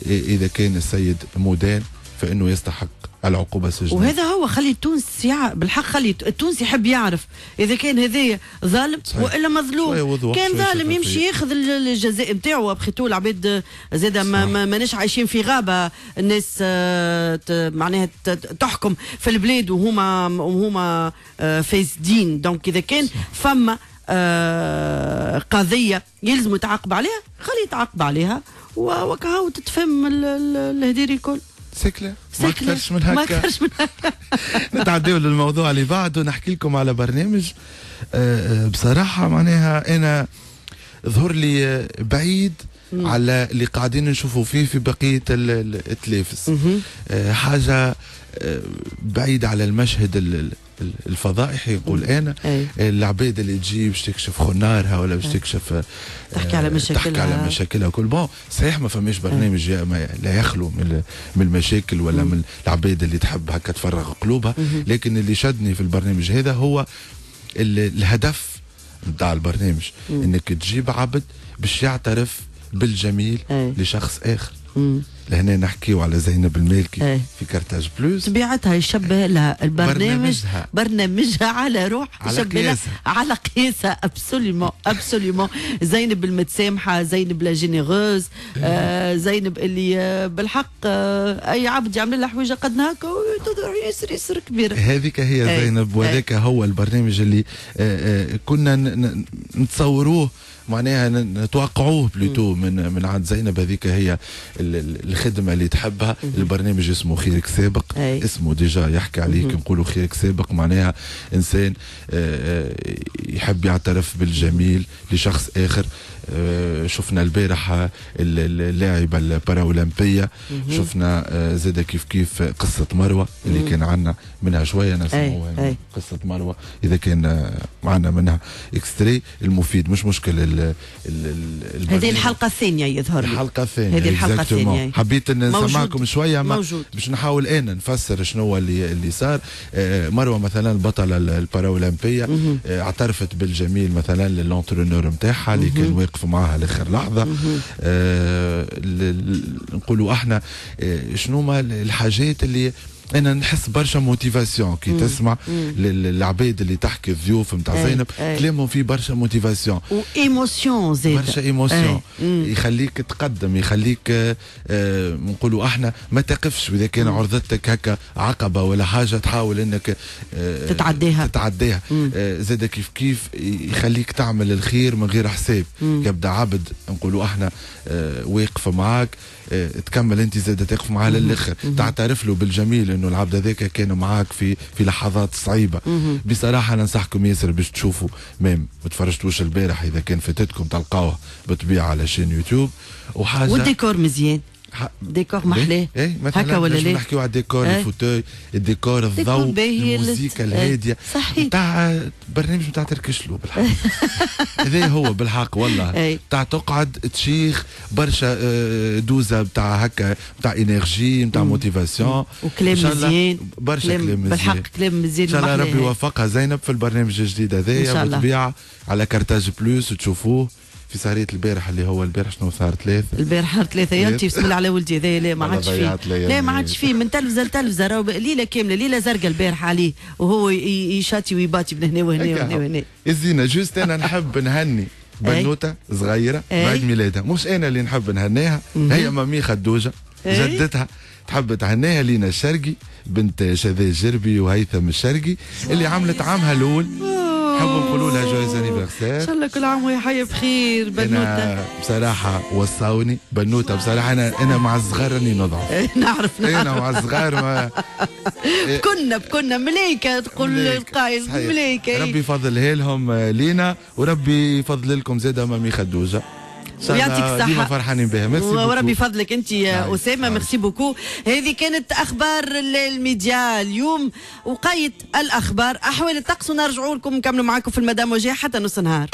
اذا كان السيد مدان فانه يستحق العقوبة السجنيه، وهذا هو. خلي التونسي بالحق، خلي التونسي يحب يعرف اذا كان هذايا ظالم والا مظلوم. كان ظالم يمشي ياخذ الجزاء نتاعو. après tout العباد زاده ماناش عايشين في غابه، الناس معناها تحكم في البلاد وهما فاسدين. donc اذا كان فما قضية يلزم يتعاقب عليها، خلي يتعاقب عليها وكهو تتفهم الهديري الكل. c'est clair، ما اكثرش من هكا، ما اكثرش من هكا. نتعداو للموضوع اللي بعده، نحكي لكم على برنامج بصراحة معناها انا ظهر لي بعيد على اللي قاعدين نشوفوا فيه في بقية التلافز، حاجة بعيدة على المشهد الفضائحي نقول انا. العباد اللي تجي باش تكشف خنارها ولا باش تكشف تحكي على مشاكلها، تحكي على مشاكلها كل. bon صحيح ما فماش برنامج لا يخلو من المشاكل ولا من العباد اللي تحب هكا تفرغ قلوبها، لكن اللي شدني في البرنامج هذا هو الهدف نتاع البرنامج، انك تجيب عبد باش يعترف بالجميل لشخص اخر. لهنا نحكيو على زينب المالكي في كارتاج بلوس. طبيعتها يشبه لها البرنامج، برنامجها على روح، على قياسها، على قياسها. absolument absolument. زينب المتسامحه، زينب la généreuse، زينب اللي بالحق اي عبد يعمل لها حويجه قد هكا ياسر ياسر كبيرة. هذيك هي زينب، وهذاك هو البرنامج اللي كنا نتصوروه، معناها نتوقعوه plutôt من عند زينب. هذيك هي الخدمة اللي تحبها. البرنامج اسمه خيرك سابق. اسمه déjà يحكي عليك، نقولوا خيرك سابق معناها انسان يحب يعترف بالجميل لشخص اخر. شفنا البارحة اللاعبه الباراولمبيه، شفنا زاده كيف كيف قصة مروه اللي كان عندنا منها شوية نسمعوها. قصة مروه اذا كان معنا منها extrait المفيد، مش مشكل. هذه الحلقة الثانية يظهر لي، الحلقة الثانية، هذه الحلقة الثانية. حبيت ان نسمعكم شوية باش نحاول انا نفسر شنو اللي صار. مروه مثلا البطلة الباراولمبيه اعترفت بالجميل مثلا لل entraîneur نتاعها اللي كان واقف معاها لاخر لحظة. نقولوا احنا شنو ما الحاجات اللي انا نحس برشا motivation كي تسمع العباد اللي تحكي، الضيوف نتاع زينب كلامهم فيه برشا motivation و émotion زاد، برشا émotion يخليك تقدم، يخليك نقولوا احنا ما تقفش. واذا كان عرضتك هكا عقبه ولا حاجة تحاول انك تتعداها. زاد كيف كيف يخليك تعمل الخير من غير حساب. يبدا عبد نقولوا احنا واقف معاك، تكمل انت زاد تقف معاه للاخر، تعترف له بالجميل انه العبد هذاك كان معاك في لحظات صعيبة. بصراحة ننصحكم ياسر باش تشوفوا، même ما تفرجتوش البارح اذا كان فاتتكم تلقاوه بالطبيعة على chaîne YouTube. وحاجه والديكور مزيان، ديكور محلاه هكا ولا لا؟ نحكيو على الديكور، ال fauteuil، الديكور، الضوء، الموسيقى الهادية. صحيح، نتاع برنامج نتاع تركشلو بالحق. هذا هو بالحق والله، نتاع تقعد تشيخ برشا دوزه نتاع هكا، نتاع énergie، نتاع motivation، وكلام مزيان، برشا كلام مزيان بالحق، كلام مزيان. ان شاء الله ربي يوفقها زينب في البرنامج الجديد هذايا بالطبيعة على كارتاج بلوس، وتشوفوه في سهرية البارح اللي هو البارح شنو صار 3 البارح 3. يا انت بسم الله على ولدي هذايا، لا ما عادش فيه، لا ما عادش فيه من تلفزه لتلفزه، راهو ليلة كاملة، ليلة زرقاء البارح عليه وهو يشاتي ويباتي من هنا وهنا وهنا وهنا. الزينة juste انا نحب نهني بنوته صغيرة بعيد ميلادها، مش انا اللي نحب نهنيها، هي mamie خدوجة جدتها تحب تهنيها، لينا الشرقي بنت شذا الجربي وهيثم الشرقي اللي عملت عامها الاول. نحب نقولوا لها joyeux anniversaire، ان شاء الله كل عام وهي حيه بخير. بنوته بصراحة وصاوني بنوته، بصراحة انا مع الصغار راني نضعف. نعرف انا مع الصغار ما كنا ملايكة، تقول القايل ملايكة. ربي يفضلها لهم لينا، وربي يفضل لكم زاده mamie خدوجة. ويعطيك الصحة، ديما فرحانين بها. ميرسي وربي يفضلك انت يا أسامة. merci beaucoup. هذه كانت أخبار الميديا اليوم، وقيت الأخبار أحوال الطقس، ونرجعوا لكم نكملوا معاكم في المدام وجيه حتى نص نهار.